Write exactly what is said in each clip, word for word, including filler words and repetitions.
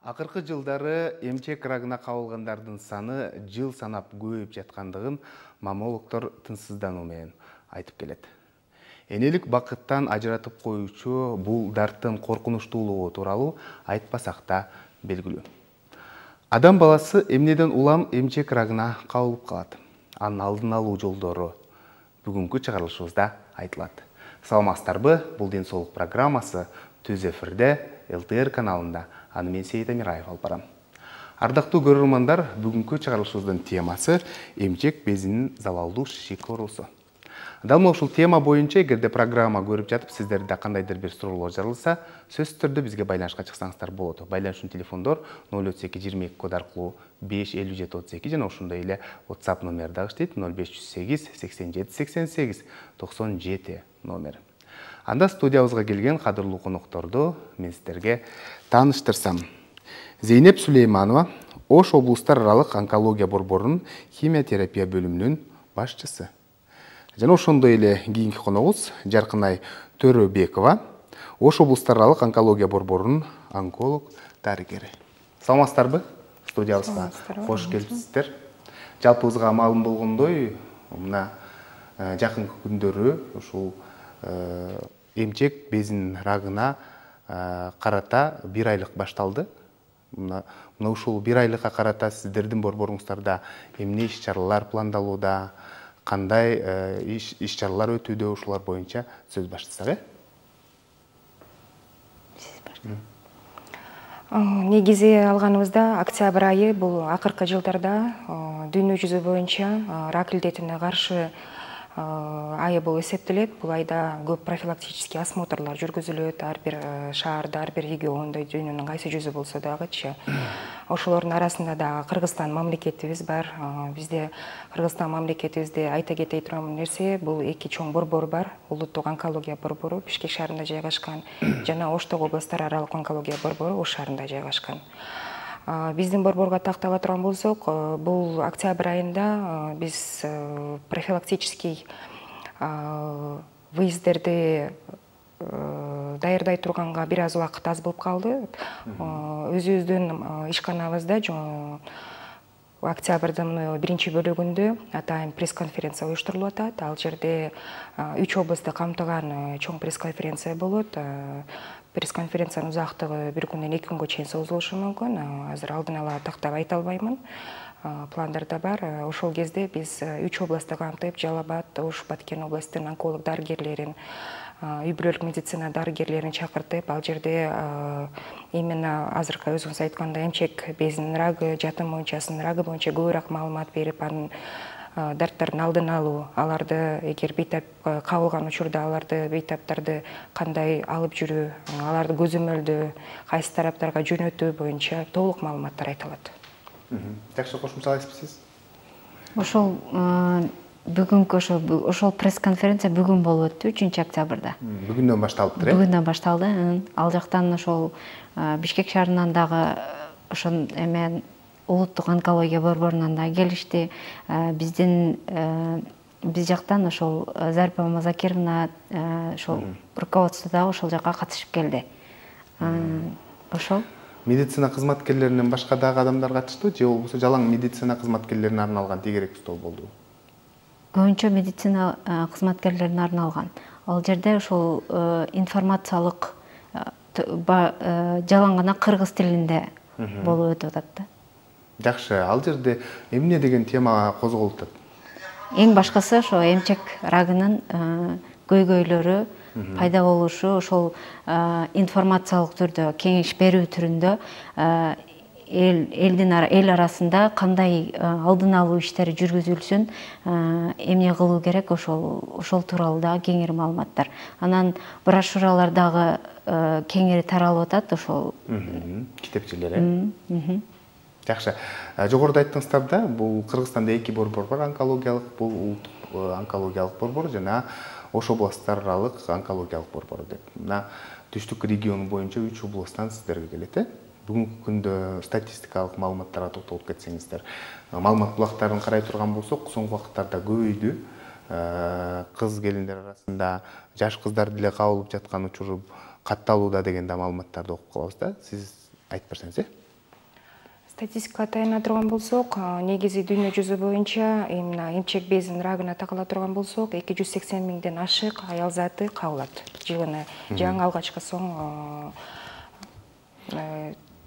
Акыркы жылдары эмчек рагына кабылгандардын саны жыл санап көбөйүп жаткандыгын маммологдор тынчсыздануу менен айтып келет. Энелик бакыттан ажыратып коюучу бул дарттын коркунучтуулугу тууралуу айтпасак да белгилүү. Адам баласы эмнеден улам эмчек рагына кабылып калат? Анын алдын алуу жолдору бүгүнкү чыгарылышыбызда айтылат. Саламатсыздарбы? Бул ден соолук программасы түз эфирде эл тэ эр каналында. Аны мен Сейит Амираев алып барам. Ардактуу көрөрмандар, бүгүнкү чыгарылышыбыздын темасы эмчек безинин залалдуу шишик оорусу. Дал ушул тема боюнча эгерде программа көрүп жатып сиздерде кандайдыр бир суроолор жарылса, сөзсүз түрдө бизге байланышка чыксаңыздар болот. Байланышчу телефондор ноль отуз эки жыйырма эки код аркылуу беш элүү жети отуз эки жана ошондой эле WhatsApp номер дагы иштейт ноль беш жүз сегиз сексен жети сексен сегиз токсон жети номер. Анда студиябызга келген кадырлуу конокторду мен сиздерге тааныштырсам. Зейнеп Сулейманова Ош облустар аралык онкология борборунун химия терапия бөлүмүнүн башчысы. Жана ошондой эле кийинки коногубуз Жаркынай Төрөбекова Ош облустар аралык онкология борборунун онколог дарыгери. Саламатсыздарбы? Студиябызга кош келипсиздер. Жалпыбызга маалым болгондой, мына жакынкы күндөрү ушул эмчек безинин рагына карата бир айлык башталды. Мына ушул бир айлыкка карата сиздердин борборуңуздарда эмне иш чаралар пландалууда, кандай иш чаралар өтүүдө, ушулар боюнча сөз баштасак, э? Негизи алганыбызда октябрь айы бул акыркы жылдарда дүйнө жүзү боюнча рак илдетине каршы айы болуп эсептелет. Бул айда көп профилактический осмотрлар жүргүзүлөт. Ар бир шаарда, ар бир региондо, дүйнөнүн кайсы жүзү болсо дагычы. Ошолордун арасында дагы Кыргызстан мамлекетибиз бар. Бизде Кыргызстан мамлекетибизде айта кетей турган нерсе, бул эки чоң борбор бар. Улуттук онкология борбору Бишкек шаарында жайгашкан жана Оштогу областар аралык онкология борбору Ош шаарында жайгашкан. Биздин борборго тактала турган болсок, бул октябрь айында биз профилактический выездерди даярдай турганга бир аз убакыт аз болуп калды. Өзүбүздүн ишканабызда октябрдын биринчи бөлүгүндө атайын пресс-конференция уюштурулуп атат. Ал жерде үч облусту камтыган чоң пресс-конференция болот. Пресс-конференциянын узактыгы бир күндөн эки күнгө чейин созулушу мүмкүн. Азыр алдын ала тактап айта албаймын. Пландарда бар. Ошол кезде биз үч областты камтып, Жалал Абад, Ош, Баткен областынын онколог дарыгерлерин, үй бүлөлүк медицина дарыгерлерин чакыртып, ал жерде именно азыркы өзүңүз айткандай эмчек безинин рагы, жатын моюнчасынын рагы боюнча көбүрөөк маалымат берип, анын дарттардын алдын алуу, аларды эгер бейтап кабылган учурда аларды бейтаптарды кандай алып жүрүү, аларды көзөмөлдөө, кайсы тараптарга жөнөтүү боюнча толук маалыматтар айтылат. Жакшы, кошумчалайсызбы сиз? Ошол бүгүнкү ошол пресс-конференция бүгүн болуп өттү, үчүнчү октябрда. Бүгүндөн башталыптыр, э? Бүгүндөн башталды. Ал жактан ошол Бишкек шаарынан дагы ошон эме улуттук онкология борборунан да келишти. Биздин биз жактан ошол Зарипа Мазакировна ошол руководство дагы ошол жакка катышып келди. Ошол медицина кызматкерлеринен башка дагы адамдар катышты, же болбосо жалаң медицина кызматкерлерине арналган тегерек стол болду? Көбүнчө медицина кызматкерлерине арналган. Ал жерде ошол информациялык жалаң гана кыргыз тилинде болуп өтүп атат да. Жакшы, ал жерде эмне деген тема козголуп атат? Эң башкысы ошо эмчек рагынын көйгөйлөрү пайда болушу, ошол информациялык түрдө, кеңеш берүү түрүндө элдин эл арасында кандай алдын алуу иштери жүргүзүлсүн, эмне кылуу керек, ошол ошол тууралуу дагы кеңири маалыматтар. Анан брошюралар дагы кеңири таралып атат ошол китепчелер, э? Жакшы. Жогоруда айттыңыздар да, бул Кыргызстанда эки борбор бар, онкологиялык, бул улуттук онкологиялык борбор жана Ош областар аралык онкологиялык борбору деп. Мына түштүк регион боюнча үч областтан сиздерге келет, э? Бүгүнкү күндө статистикалык маалыматтарга токтолуп кетсеңиздер. Маалымат булактарын карай турган болсок, соңку убакыттарда көбөйдү. Кыз келиндер арасында жаш кыздар деле кабылып жаткан учуру катталууда деген да маалыматтарды окуп калабыз да. Сиз айтып берсеңиз, э? статистикага таяна турган болсок, негизи дүйнө жүзү боюнча именно эмчек безинин рагына такала турган болсок, эки жүз сексен миңден ашык аял заты кабылат жылына. Жаңы алгачкы соң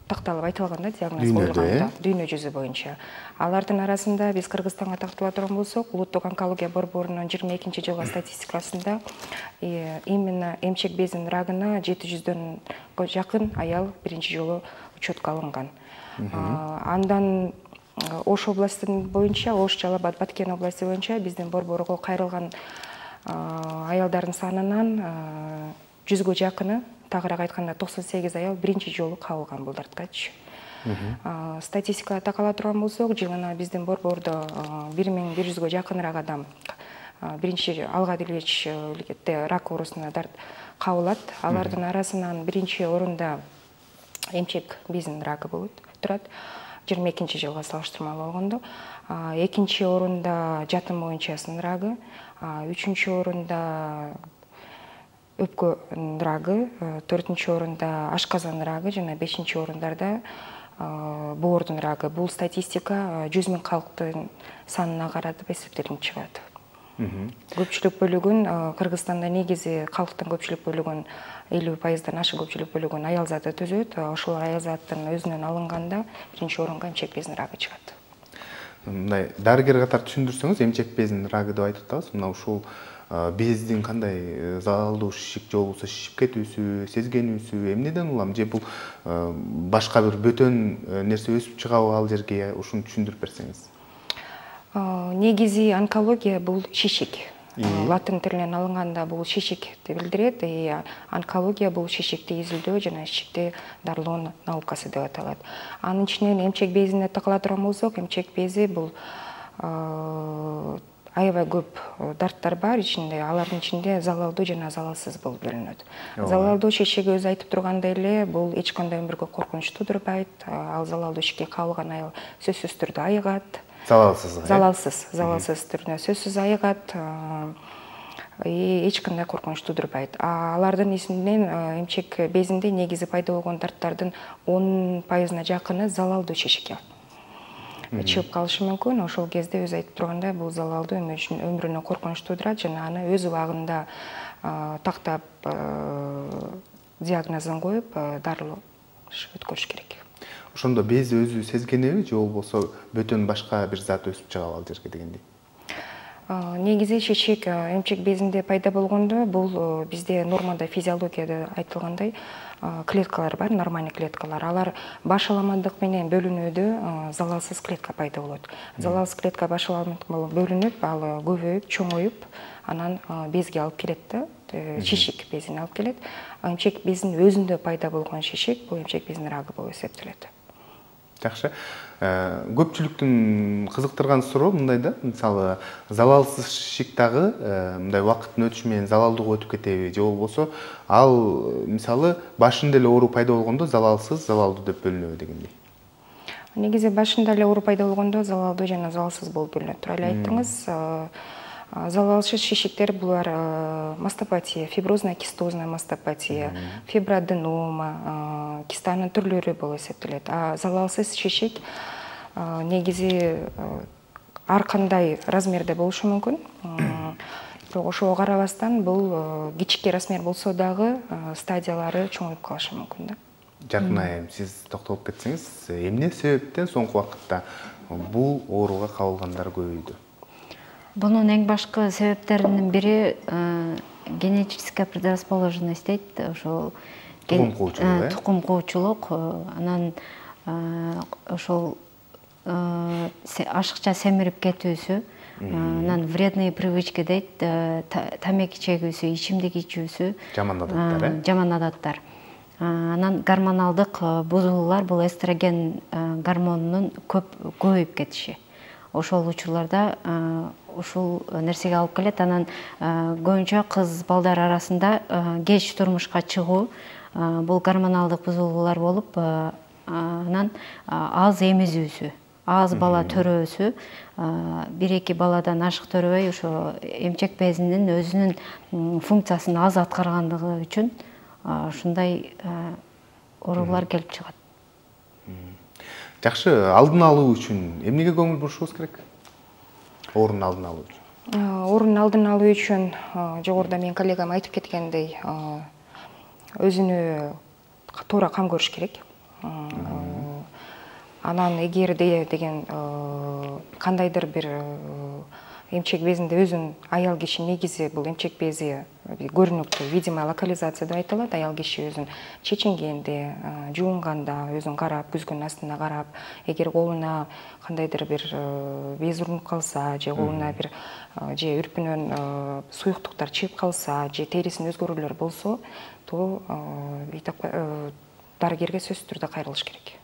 такталып айтылганда диагноз коюлганда дүйнө жүзү боюнча. Алардын арасында биз Кыргызстанга тартыла турган болсок, улуттук онкология борборунун жыйырма экинчи жылғы статистикасында именно эмчек безинин рагына жети жүздөнгө жакын аял биринчи жолу учетко алынган. Андан Ош областын боюнча, Ош, Жалал Абад, Баткен областы боюнча биздин борборго кайрылган аялдардын санынан жүзгө жакыны, тагыраак айтканда токсон сегиз аял биринчи жолу кабылган булдарткачы. Статистикага такала турган болсок, жылына биздин борбордо бир миң бир жүзгө жакыныраак адам биринчи алга илгечте рак оорусуна кабылат. Алардын арасынан биринчи орунда эмчек безинин рагы болот, турат. жыйырма экинчи жылга салыштырмалуу болгондо. Экинчи орунда жатын моюнчасынын рагы, үчүнчү орунда өпкөнүн рагы, төртүнчү орунда ашказан рагы жана бешинчи орундарда боордун рагы. Бул статистика жүз миң калктын санына каратып эсептелип чыгат. Көпчүлүк бөлүгүн Кыргызстанда негизи калктын көпчүлүк бөлүгүн элүү пайыздан ашык көпчүлүк бөлүгүн аял заты түзөт. Ошол аял заттын өзүнөн алынганда биринчи орунга эмчек безинин рагы чыгат. Мындай дарыгер катары түшүндүрсөңүз, эмчек безинин рагы деп айтып атабыз. Мына ушул бездин кандай залалдуу шишик же болбосо шишип кетүүсү, сезгенүүсү эмнеден улам, же бул башка бир бөтөн нерсе өсүп чыгабы ал жерге, ушуну түшүндүрүп берсеңиз. Негизи онкология бул шишик. Латын тилинен алынганда бул шишикти билдирет. Онкология бул шишикти изилдөө жана шишикти дарылоо наукасы деп аталат. Анын ичинен эмчек безине такала турган болсок, эмчек бези бул аябай көп дарттар бар ичинде. Алардын ичинде залалдуу жана залалсыз болуп бөлүнөт. Залалдуу шишик өзү айтып тургандай эле, бул эч кандай өмүргө коркунуч туудурбайт. Ал залалдуу шишикке кабылган аял сөзсүз түрдө айыгат. Залалсыз. Залалсыз, залалсыз түрдө сөзсүз айыгат. Эч кандай коркунуч туудурбайт. Алардын ичинен эмчек безинде негизи пайда болгон дарттардын он пайызына жакыны залалдуу шишик. Чыгып калышы мүмкүн. Ошол кезде өзү айтып тургандай, бул залалдуу өмүрүнө коркунуч туудурат жана аны өз убагында тактап диагнозун коюп дарылоо өткөрүш керек. Ошондо без өзү сезгенеби же болбосо бөтөн башка бир зат өсүп чыгабы ал жерге дегендей? Негизи шишик эмчек безинде пайда болгондо бул бизде нормада физиологияда айтылгандай клеткалар бар, нормальный клеткалар. Алар башаламандык менен бөлүнүүдө залалсыз клетка пайда болот. Залалсыз клетка башаламандык менен бөлүнүп, ал көбөйүп, чоңоюп, анан безге алып келет да, шишик безине алып келет. Эмчек безинин өзүндө пайда болгон шишик бул эмчек безинин рагы болуп эсептелет. Жакшы. Көпчүлүктүн кызыктырган суроо мындай да, мисалы, залалсыз шишик дагы мындай убакыттын өтүшү менен залалдууга өтүп кетеби, же болбосо ал мисалы башында эле оору пайда болгондо залалсыз, залалдуу деп бөлүнөбү дегендей. Негизи башында эле оору пайда болгондо залалдуу жана залалсыз болуп бөлүнөт. Туура эле айттыңыз. Залалсыз шишиктер булар мастопатия, фиброзная кистозная мастопатия, фиброаденома, кистанын түрлөрү болуп эсептелет. А залалсыз шишик негизи ар кандай размерде болушу мүмкүн. Бирок ошого карабастан бул кичике размер болсо дагы стадиялары чоңоюп калышы мүмкүн да. Жаркын айым, сиз токтолуп кетсеңиз, эмне себептен соңку убакытта бул ооруга кабылгандар көбөйдү? Бунун эң башкы себептеринин бири генетическая предрасположенность дейт, ошол тукум куучулук, тукум куучулук, анан ошол ашыкча семирип кетүүсү, анан вредные привычки дейт, тамеки чегүүсү, ичимдик ичүүсү, жаман адаттар, э? Жаман адаттар. Анан гормоналдык бузулуулар, бул эстроген гормонунун көп көбөйүп кетиши. Ошол учурларда ушул нерсеге алып келет. Анан көбүнчө кыз балдар арасында кеч турмушка чыгуу бул гормоналдык бузулуулар болуп, анан аз эмизүүсү, аз бала төрөөсү, бир эки баладан ашык төрөбөй, ошо эмчек безинин өзүнүн функциясын аз аткаргандыгы үчүн ушундай оорулар келип чыгат. Жакшы, алдын алуу үчүн эмнеге көңүл бурушубуз керек? Орун алдын алуу үчүн. Орун алдын алуу үчүн жогоруда менин коллегам айтып кеткендей, өзүнө туура кам көрүш керек. Анан эгерде деген кандайдыр бир эмчек безинде өзүнүн аял киши негизи бул эмчек бези көрүнүктүү видимая локализация деп айтылат. Аял киши өзүн чечингенде, жуунганда өзүн карап, күзгүнүн астына карап, эгер колуна кандайдыр бир без урунуп калса, же колуна бир же үрпүнөн суюктуктар чыгып калса, же терисинин өзгөрүүлөр болсо, то дарыгерге сөзсүз түрдө кайрылыш керек.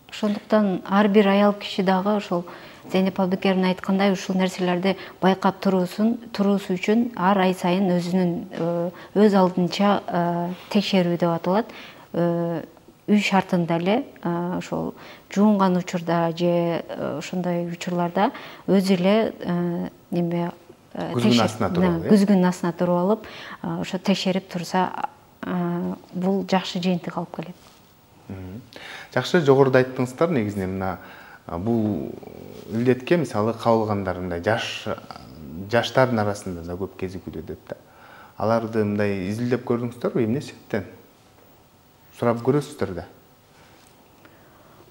Ошондуктан ар бир аял киши дагы ошол Зейнеп Абдыкеровна айткандай ушул нерселерди байкап туруусун туруусу үчүн ар ай сайын өзүнүн өз алдынча текшерүү деп аталат. Үй шартында эле ошол жуунган учурда же ошондой учурларда өзү эле неме күзгүнүн астына туруп алып, күзгүнүн астына туруп алып, ошо текшерип турса, бул жакшы жыйынтык алып келет. Жакшы, жогоруда айттыңыздар, негизинен мына бул илдетке мисалы кабылгандар мындай жаш жаштардын арасында да көп кезигүүдө деп да. Аларды мындай изилдеп көрдүңүздөрбү, эмне себептен? Сурап көрөсүздөр да.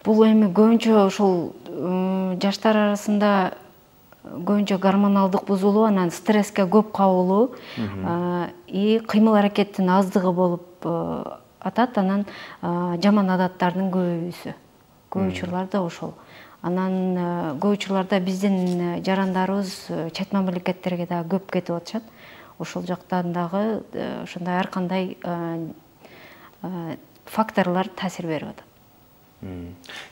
Бул эми көбүнчө ошол жаштар арасында көбүнчө гормоналдык бузулуу, анан стресске көп кабылуу и кыймыл аракеттин аздыгы болуп атат, анан жаман адаттардын көбөйүүсү. Көп учурларда ошол. Анан көп учурларда биздин жарандарыбыз чет мамлекеттерге да көп кетип атышат. Ошол жактан дагы ошондой ар кандай факторлор таасир берип атат.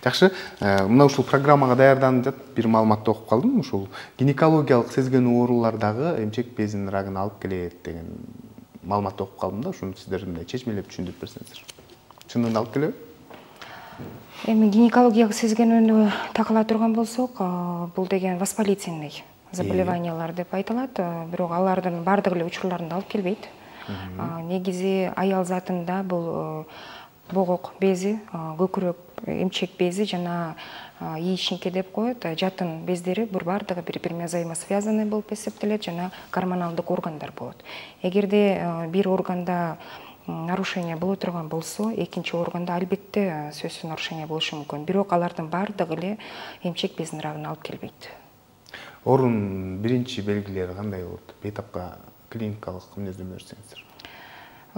Жакшы, мына ушул программага даярданып жатып бир маалыматты окуп калдым. Ушул гинекологиялык сезгенүү оорулар дагы эмчек безинин рагын алып келет деген маалыматты окуп калдым да. Ушуну сиздер мындай чечмелеп түшүндүрүп берсеңиздер. Чынында алып келеби? Эми гинекологиялык сезгенүүнү такыла турган болсок, бул деген воспалительный заболеваниялар деп айтылат, бирок алардын бардык эле учурларында алып келбейт. Негизи аял затында бул богок бези, көкүрөк эмчек бези жана яичнике деп коет, жатын бездери бур бардыгы бири-бири взаимосвязанный болуп эсептелет жана гормоналдык органдар болот. Эгерде бир органда нарушение боло турган болсо, экинчи органда албетте сөзсүз нарушение болушу мүмкүн. Бирок алардын бардыгы эле эмчек безинин рагын алып келбейт. Орун биринчи белгилери кандай болот? Бейтапка клиникалык мүнөздөмө берсеңиздер.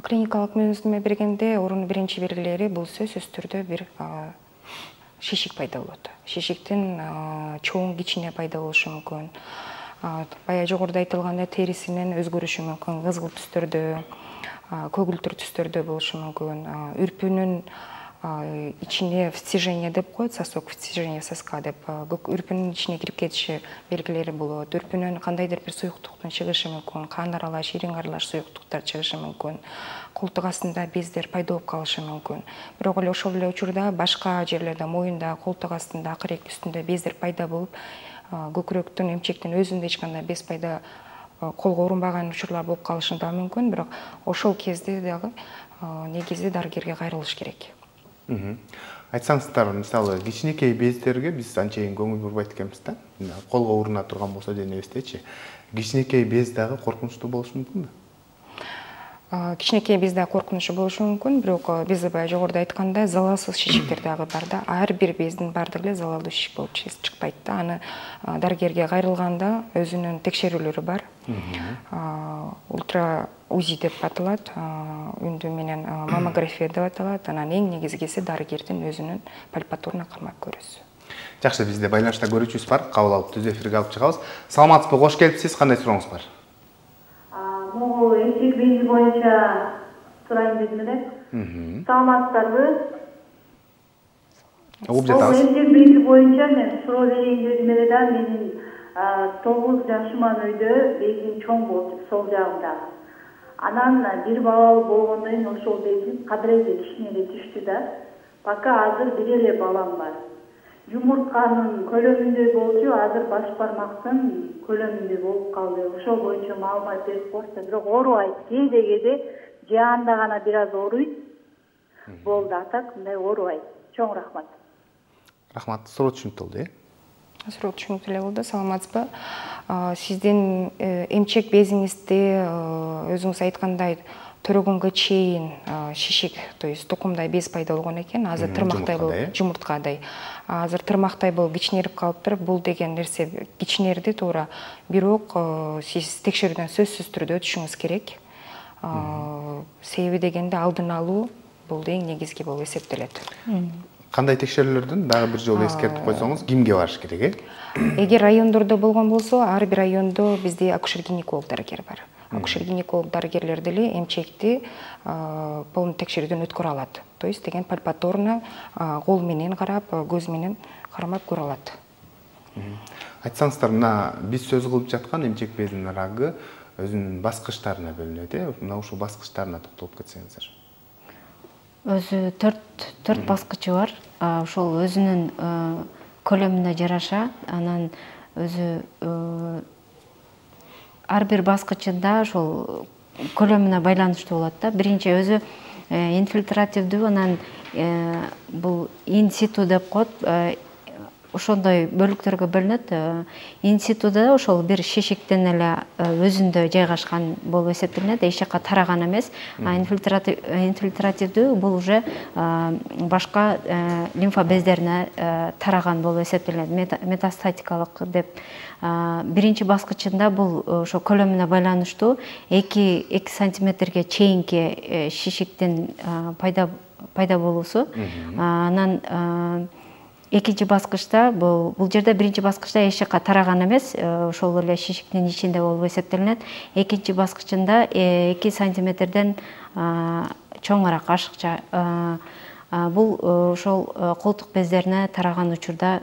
Клиникалык мүнөздөмө бергенде орун биринчи белгилери бул сөзсүз түрдө бир шишик пайда болот. Шишиктин чоң кичине пайда болушу мүмкүн. Бая жогоруда айтылгандай терисинин өзгөрүшү мүмкүн, кызгыл түстөрдө, көгүлтүр түстөрдө болушу мүмкүн. Үрпүнүн ичине втяжение деп коет, сосок втяжение соска деп, үрпүнүн ичине кирип кетиши белгилери болот. Үрпүнүн кандайдыр бир суюктуктун чыгышы мүмкүн, кан аралаш, ириң аралаш суюктуктар чыгышы мүмкүн. Колтук астында бездер пайда болуп калышы мүмкүн. Бирок эле ошол эле учурда башка жерлерде, моюнда, колтук астында, акырек үстүндө бездер пайда болуп, көкүрөктүн, эмчектин өзүндө эч кандай без пайда колго урунбаган учурлар болуп калышы да мүмкүн, бирок ошол кезде дагы негизи дарыгерге кайрылыш керек. Айтсаңыздар, мисалы, кичинекей бездерге биз анчейин көңүл бурбайт экенбиз да. Колго уруна турган болсо денебиздечи. Кичинекей без дагы коркунучтуу болушу мүмкүнбү? Кичинекей без дагы коркунучу болушу мүмкүн, бирок биз бая жогоруда айткандай, залалсыз шишиктер дагы бар да. Ар бир бездин бардыгы эле залалдуу шишик болуп чыкпайт да. Аны дарыгерге кайрылганда өзүнүн текшерүүлөрү бар. Ультра УЗИ деп аталат, үндүү менен маммография деп аталат. Анан эң негизгиси дарыгердин өзүнүн пальпатурно кармап көрүүсү. Жакшы, бизде байланышта көрүүчүбүз бар. Кабыл алып түз эфирге алып чыгабыз. Саламатсызбы, кош келипсиз. Кандай сурооңуз бар? Могу эмчек бези боюнча сурайын дедим эле. Саламатсыздарбы? Угуп жатабыз. Эмчек бези боюнча мен суроо берейин дедим эле да, менин тогуз жашыман өйдө безим чоң болчу, сол жагымда. Анан бир балалуу болгондон кийин ошол безим кадыреде кичине эле түштү да. Пока азыр бир эле балам бар. Жумуртканын көлөмүндөй болчу, азыр баш бармактын көлөмүндөй болуп калды. Ошол боюнча маалымат берип койсо, бирок оорубайт. Кээде-кээде жаанда гана бир аз ооруйт. Болду, атак мындай оорубайт. Чоң рахмат. Рахмат, суроо түшүнүктүү болду, э? Суроо түшүнүктүү эле болду. Саламатсызбы? Сиздин эмчек безиңизде өзүңүз айткандай төрөгөнгө чейин шишик, то есть тукумдай без пайда болгон экен. Азыр тырмактай болуп, жумурткадай. Азыр тырмактай болуп кичинерип калыптыр. Бул деген нерсе кичинерди туура. Бирок сиз текшерүүдөн сөзсүз түрдө өтүшүңүз керек. Себеби дегенде алдын алуу бул эң негизги болуп эсептелет. Кандай текшерүүлөрдүн дагы бир жолу эскертип койсоңуз, кимге барыш керек, э? Эгер райондордо болгон болсо, ар бир райондо бизде акушер-гинеколог дарыгер бар. Акушер-гинеколог дарыгерлер деле эмчекти полный текшерүүдөн өткөрө алат. То есть деген пальпаторно кол менен карап, көз менен кармап көрө алат. Айтсаңыздар, мына биз сөз кылып жаткан эмчек безинин рагы өзүнүн баскычтарына бөлүнөт, э? Мына ушул баскычтарына токтолуп кетсеңиздер. Өзү төрт төрт баскычы бар. Ошол өзүнүн көлөмүнө жараша, анан өзү ар бир баскычында ошол көлөмүнө байланыштуу болот да. Биринчи өзү инфильтративдүү, анан бул ин-ситу деп коет. Ошондой бөлүктөргө бөлүнөт. Ин-ситуда ошол бир шишиктен эле өзүндө жайгашкан болуп эсептелинет, эч жака тараган эмес. А инфильтративдүү бул уже башка лимфа бездерине тараган болуп эсептелинет, метастатикалык деп. Биринчи баскычында бул ошо көлөмүнө байланыштуу эки сантиметрге чейинки шишиктин пайда пайда болуусу. Анан экинчи баскычта бул бул жерде биринчи баскычта эч жака тараган эмес, ошол эле шишиктин ичинде болуп эсептелинет. Экинчи баскычында эки сантиметрден чоңураак, ашыкча. Бул ошол колтук бездерине тараган учурда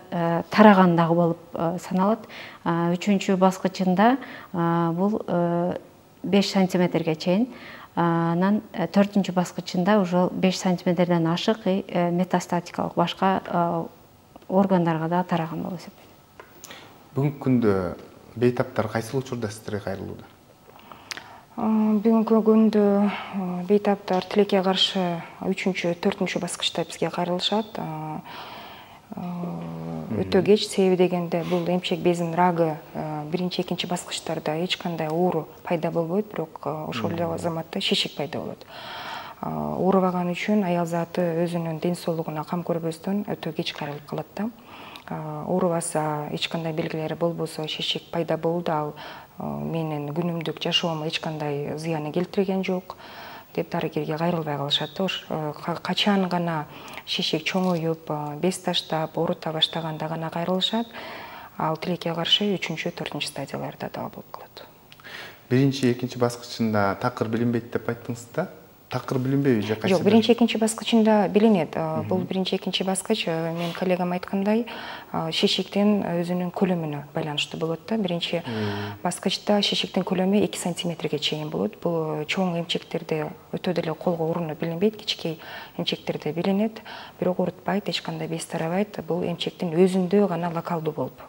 тараган дагы болуп саналат. Үчүнчү баскычында бул беш сантиметрге чейин. Анан төртүнчү баскычында уже беш сантиметрден ашык метастатикалык башка органдарга да тараган болуп эсептелет. Бүгүнкү күндө бейтаптар кайсыл учурда сиздерге кайрылууда? Бүгүнкү күндө бейтаптар тилекке каршы үчүнчү, төртүнчү баскычта бизге кайрылышат. Өтө кеч, себеби дегенде бул эмчек безинин рагы биринчи, экинчи баскычтарда эч кандай оору пайда болбойт, бирок ошол эле заматта шишик пайда болот. Оорубаган үчүн аял заты өзүнүн ден соолугуна кам көрбөстөн өтө кеч кайрылып калат да. Оорубаса, эч кандай белгилери болбосо, шишик пайда болду, ал менин күнүмдүк жашоомо эч кандай зыяны келтирген жок деп дарыгерге кайрылбай калышат да. Качан гана шишик чоңоюп, без таштап, оорута баштаганда гана кайрылышат. Ал тилекке каршы үчүнчү, төртүнчү стадияларда дагы болуп калат. Биринчи, экинчи баскычында такыр билинбейт деп айттыңыз да? Такыр билинбейби же кайсы? Жок, биринчи, экинчи баскычында билинет. Бул биринчи, экинчи баскыч, мен коллегам айткандай, шишиктин өзүнүн көлөмүнө байланыштуу болот да. Биринчи баскычта шишиктин көлөмү эки сантиметрге чейин болот. Бул чоң эмчектерде өтө деле колго урунуп билинбейт, кичикей эмчектерде билинет, бирок оорутпайт, эч кандай без тарабайт. Бул эмчектин өзүндө гана локалдуу болуп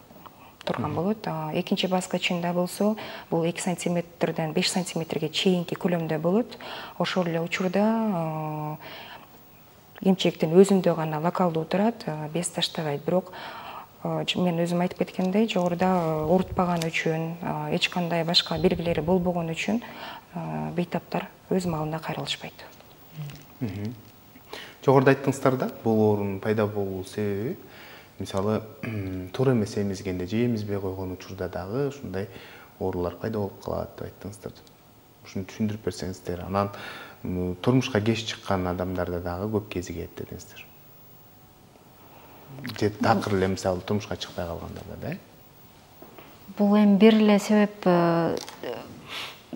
турган болот. Экинчи баскычында болсо, бул эки сантиметрден беш сантиметрге чейинки көлөмдө болот. Ошол эле учурда эмчектин өзүндө гана локалдуу турат, без таштабайт. Бирок мен өзүм айтып кеткендей, жогоруда оорутпаган үчүн, эч кандай башка белгилери болбогон үчүн бейтаптар өз маалында кайрылышпайт. Жогоруда айттыңыздар да, бул оорунун пайда болуу себеби мисалы туура эмес эмизгенде же эмизбей койгон учурда дагы ушундай оорулар пайда болуп калат деп айттыңыздар. Ушуну түшүндүрүп берсеңиздер. Анан турмушка кеч чыккан адамдарда дагы көп кезигет дедиңиздер. Же такыр эле мисалы турмушка чыкпай калгандарда да? Бул эми бир эле себеп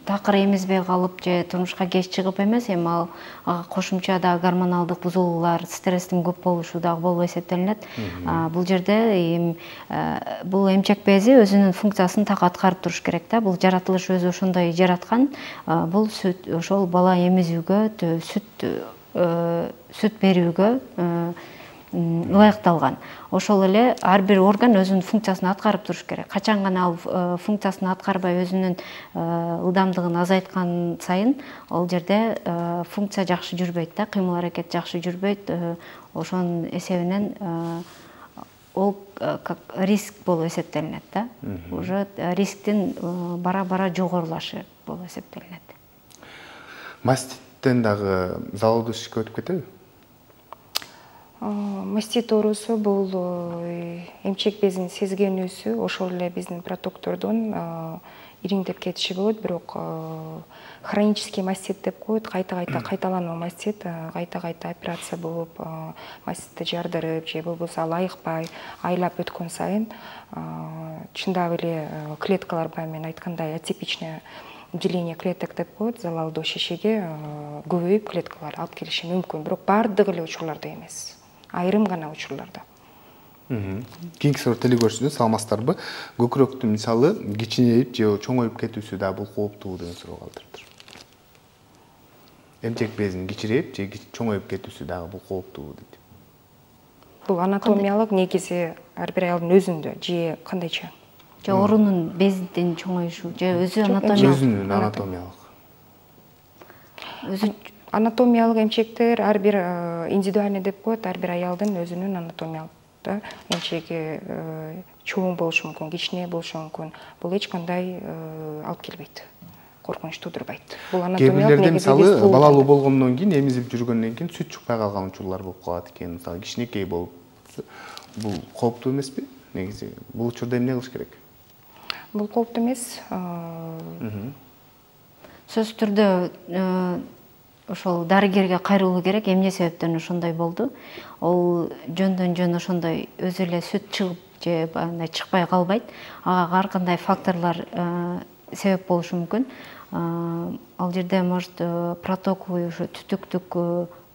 такыр эмизбей калып же турмушка кеч чыгып эмес, эми ал кошумча да гормоналдык бузулуулар, стресстин көп болушу дагы болуп эсептелинет. Бул жерде бул эмчек бези өзүнүн функциясын так аткарып туруш керек да. Бул жаратылыш өзү ошондой жараткан. Бул сүт ошол бала эмизүүгө, сүт сүт берүүгө ылайыкталган. Ошол эле ар бир орган өзүнүн функциясын аткарып туруш керек. Качан гана ал функциясын аткарбай өзүнүн ылдамдыгын азайткан сайын ал жерде функция жакшы жүрбөйт да, кыймыл аракет жакшы жүрбөйт. Ошонун эсебинен ол как риск болуп эсептелинет да. Уже рисктин бара-бара жогорулашы болуп эсептелинет. Маститтен дагы залалдуу ишке өтүп кетеби? Мастит оорусу бул эмчек безин сезгенүүсү, ошол эле биздин протоктордун ириңдеп кетиши болот, бирок хронический мастит деп коет, кайта-кайта кайталануу мастит, кайта-кайта операция болуп, маститти жардырып же болбосо ал айыкпай, айлап өткөн сайын чындап эле клеткалар баягы мен айткандай атипичное деление клеток деп коет, залалдуу шишеге көбөйүп клеткалар алып келиши мүмкүн, бирок баардык эле учурларда эмес, айрым гана учурларда. Кийинки суроо көрсөтүнү саламатсыздарбы? Көкүрөктүн мисалы кичинейип же чоңоюп кетүүсү да бул кооптуу деген суроо калтырыптыр. Эмчек безин кичирейип же чоңоюп кетүүсү дагы бул кооптуу дейт. Бул анатомиялык негизи ар бир аялдын өзүндө же кандайча? Же орунун безинин чоңоюшу же өзү анатомиялык? Өзүнүн анатомиялык. Өзү анатомиялык эмчектер ар бир индивидуальный деп коет, ар бир аялдын өзүнүн анатомиялык эмчеги чоң болушу мүмкүн, кичине болушу мүмкүн. Бул эч кандай алып келбейт, коркунуч туудурбайт. Бул анатомиялык негизи. Мисалы балалуу болгондон кийин, эмизип жүргөндөн кийин сүт чыкпай калган учурлар болуп калат экен. Мисалы кичинекей болуп, бул кооптуу эмеспи? Негизи бул учурда эмне кылыш керек? Бул кооптуу эмес. Сөзсүз түрдө ошол дарыгерге кайрылуу керек. Эмне себептен ошондой болду? Ол жөндөн жөн ошондой өзү эле сүт чыгып же андай чыкпай калбайт. Ага ар кандай факторлор себеп болушу мүмкүн. Ал жерде может протоковый ушу түтүктүк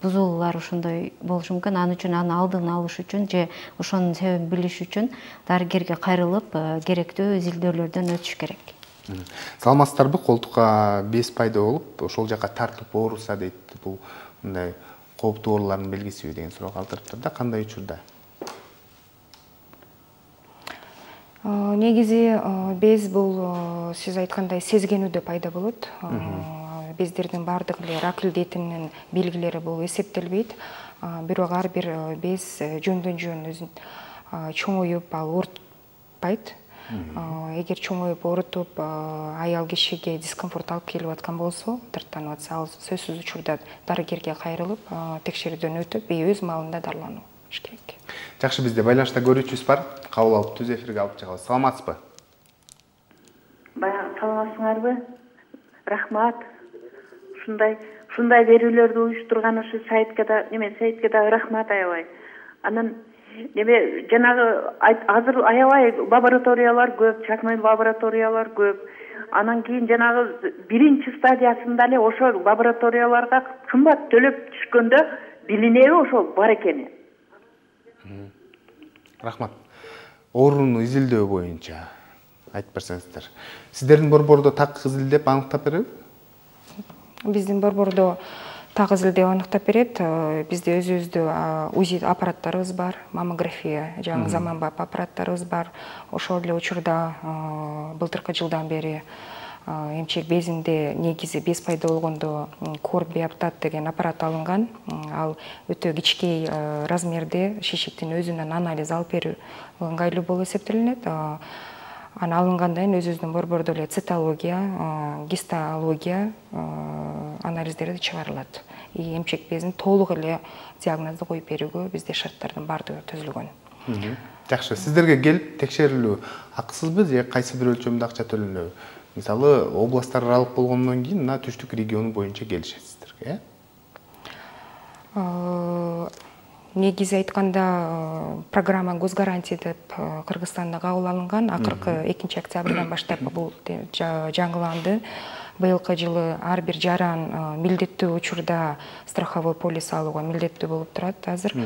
бузулуулар ошондой болушу мүмкүн. Аны үчүн аны алдын алыш үчүн же ошонун себебин билиш үчүн дарыгерге кайрылып керектүү изилдөөлөрдөн өтүш керек. Саламатсыздарбы? Колтукка без пайда болуп, ошол жака тартып ооруса дейт. Бул мындай кооптуу оорулардын белгисиби деген суроо калтырыптыр да, кандай учурда? Негизи без бул сиз айткандай сезгенүүдө пайда болот. Бездердин баардык эле рак илдетинин белгилери бул эсептелбейт. Бирок ар бир без жөндөн жөн өзүн чоңоюп, ал оорутпайт. Эгер чоңоюп оорутуп аял кишиге дискомфорт алып келип аткан болсо, дарттанып атса, ал сөзсүз учурда дарыгерге кайрылып, текшерүүдөн өтүп, өз маалында дарылануу керек. Жакшы, бизде байланышта көрүүчүбүз бар. Кабыл алып түз эфирге алып чыгабыз. Саламатсызбы? Баягы саламатсыңарбы? Рахмат. Ушундай ушундай берүүлөрдү уюштурган ушу сайтка да, неме сайтка да рахмат аябай. Анан неме жанагы азыр аябай лабораториялар көп, чакмый лабораториялар көп. Анан кийин жанагы биринчи стадиясында эле ошол лабораторияларга кымбат төлөп түшкөндө билинеби ошол бар экени. Рахмат. Ооруну изилдөө боюнча айтып берсеңиздер. Сиздердин борбордо так изилдеп аныктап береби? Биздин борбордо так изилдеп аныктап берет. Бизде өзүбүздө УЗИ аппараттарыбыз бар, маммография, жаңы заманбап аппараттарыбыз бар. Ошол эле учурда былтыркы жылдан бери эмчек безинде негизи без пайда болгондо корбиоптат деген аппарат алынган. Ал өтө кичкей размерде шишиктин өзүнөн анализ алып берүү ыңгайлуу болуп эсептелинет. Аны алынгандан кийин өзүбүздүн борбордо эле цитология, гистология анализдери чыгарылат. И эмчек безин толук эле диагнозду коюп берүүгө бизде шарттардын баардыгы түзүлгөн. Жакшы, сиздерге келип текшерилүү акысызбы же кайсы бир өлчөмдө акча төлөнөбү? Мисалы, областтар аралык болгондон кийин мына түштүк регион боюнча келишесиздер, э? Негизи айтканда программа госгарантия деп Кыргызстанда кабыл алынган. Акыркы экинчи октябрдан баштап бул жаңыланды. Быйылкы жылы ар бир жаран милдеттүү учурда страховой полис алууга милдеттүү болуп турат азыр.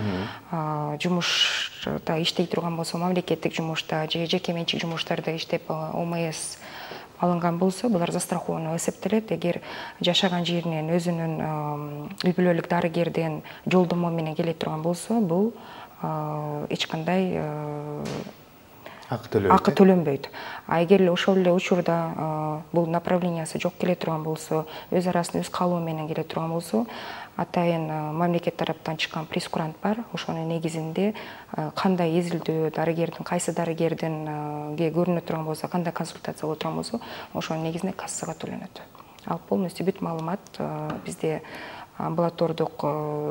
Жумушта иштей турган болсо, мамлекеттик жумушта же жеке менчик жумуштарда иштеп О М С алынган болсо, булар застраховано эсептелет. Эгер жашаган жеринен өзүнүн үй бүлөлүк дарыгерден жолдомо менен келе турган болсо, бул эч кандай акы төлөнбөйт. А эгер ошол эле учурда бул направлениясы жок келе турган болсо, өз арасында өз каалоо менен келе турган болсо, атайын мамлекет тараптан чыккан прескурант бар. Ошонун негизинде кандай эзилдөө дарыгердин, кайсы дарыгердинге көрүнө турган болсо, кандай консультация боло турган болсо, ошонун негизинде кассага төлөнөт. Ал полностью бүт маалымат бизде амбулатордук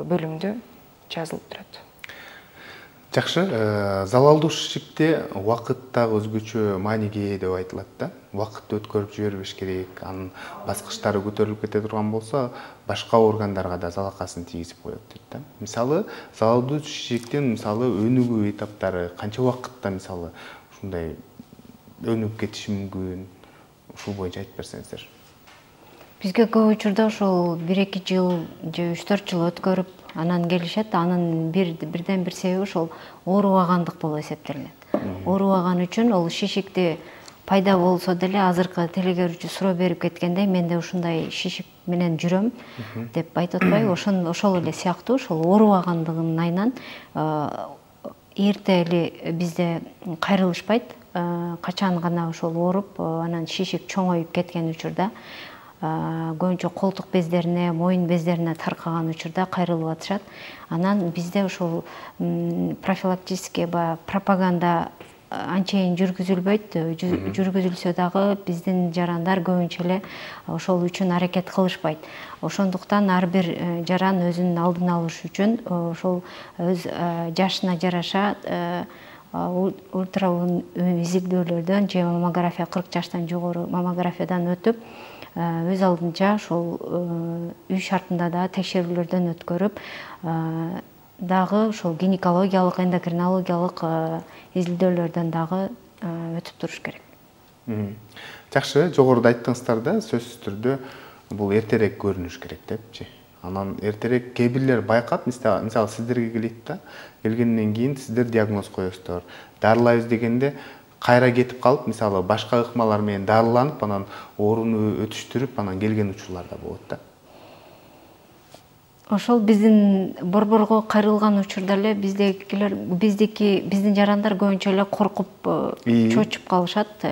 бөлүмдө жазылып турат. Жакшы, залалдуу шишикте убакыт дагы өзгөчө мааниге ээ деп айтылат да. Убакытты өткөрүп жибербеш керек, анын баскычтары көтөрүлүп кете турган болсо, башка органдарга да залакасын тийгизип коет дейт да. Мисалы, залалдуу шишиктин мисалы өнүгүү этаптары канча убакытта мисалы ушундай өнүгүп кетиши мүмкүн? Ушул боюнча айтып берсеңиздер. Бизге көп учурда ошол бир эки жыл же үч төрт жыл өткөрүп анан келишет. Анын бир бирден бир себеби ошол оорубагандык болуп эсептелинет. Оорубаган үчүн ол шишикти пайда болсо деле азыркы телегөрүүчү суроо берип кеткендей, менде ушундай шишик менен жүрөм деп айтып атпайбы? Ошон ошол эле сыяктуу ошол оорубагандыгынын айынан эрте эле бизде кайрылышпайт. Качан гана ошол ооруп, анан шишик чоңоюп кеткен учурда, көбүнчө колтук бездерине, моюн бездерине таркаган учурда кайрылып атышат. Анан бизде ошол профилактический ба пропаганда анчейин жүргүзүлбөйт. Жүргүзүлсө дагы биздин жарандар көбүнчө эле ошол үчүн аракет кылышпайт. Ошондуктан ар бир жаран өзүнүн алдын алыш үчүн ошол өз жашына жараша ультраун изилдөөлөрдөн же маммография кырк жаштан жогору маммографиядан өтүп, өз алдынча ошол үй шартында да текшерүүлөрдөн өткөрүп, дагы ошол гинекологиялык, эндокринологиялык изилдөөлөрдөн дагы өтүп туруш керек. Жакшы, жогоруда айттыңыздар да, сөзсүз түрдө бул эртерээк көрүнүш керек депчи. Анан эртерээк кээ бирлер байкап, мисалы сиздерге келет да, келгенден кийин сиздер диагноз коесуздар. Дарылайбыз дегенде кайра кетип калып, мисалы башка ыкмалар менен дарыланып, анан ооруну өтүштүрүп, анан келген учурлар да болот да. Ошол биздин борборго кайрылган учурда эле биздекилер, биздики биздин жарандар көбүнчө эле коркуп, чочуп калышат.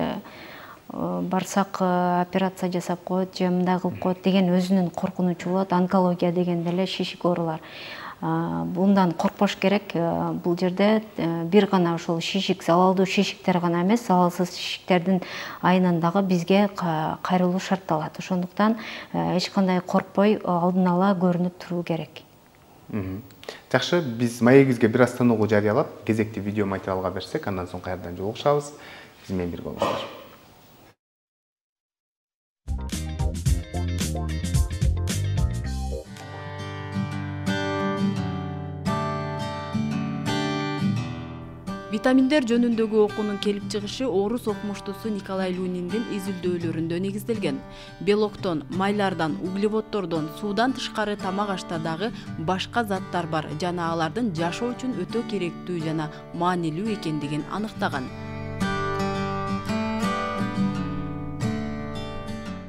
Барсак операция жасап коет, же мындай кылып коет деген өзүнүн коркунучу болот. Онкология дегенде эле шишик оорулар. Bundan коркпош керек. Бул жерде бир гана ошол шишик, залалдуу шишиктер гана эмес, залалсыз шишиктердин айынан дагы бизге кайрылуу шартталат. Ошондуктан эч кандай коркпой алдын ала көрүнүп туруу керек. Жакшы, биз маегибизге бир аз тыныгуу жарыялап, кезекти видео материалга берсек, андан соң кайрадан жолугушабыз. Биз менен бирге болуңуздар. Витаминдер жөнүндөгү окуунун келип чыгышы орус окумуштуусу Николай Люниндин изилдөөлөрүндө негизделген. Белоктон, майлардан, углеводдордон, суудан тышкары тамак ашта дагы башка заттар бар жана алардын жашоо үчүн өтө керектүү жана маанилүү экендигин аныктаган.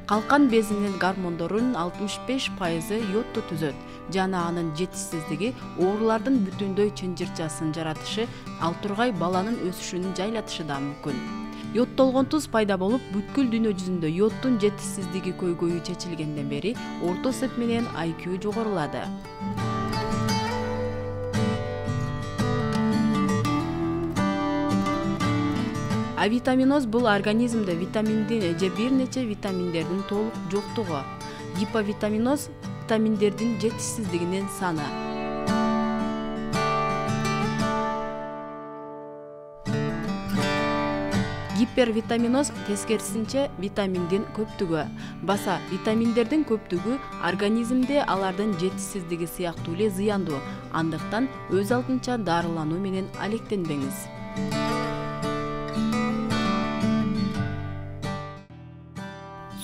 Калкан безинин гормондорунун алтымыш беш пайызы йодду түзөт жана анын жетишсиздиги оорулардын бүтүндөй чынжырчасын жаратышы, ал тургай баланын өсүшүнүн жайлатышы да мүмкүн. Йодтолгон туз пайда болуп, бүткүл дүйнө жүзүндө йоддун жетишсиздиги көйгөйү чечилгенден бери орто эсеп менен ай кью жогорулады. Авитаминоз бул организмде витаминдин же бир нече витаминдердин толук жоктугу. Гиповитаминоз витаминдердин жетишсиздигинин саны. Гипервитаминоз тескерисинче витаминдин көптүгү. Баса витаминдердин көптүгү организмде алардын жетишсиздиги сыяктуу эле зыяндуу. Андыктан өз алдынча дарылануу менен алектенбеңиз.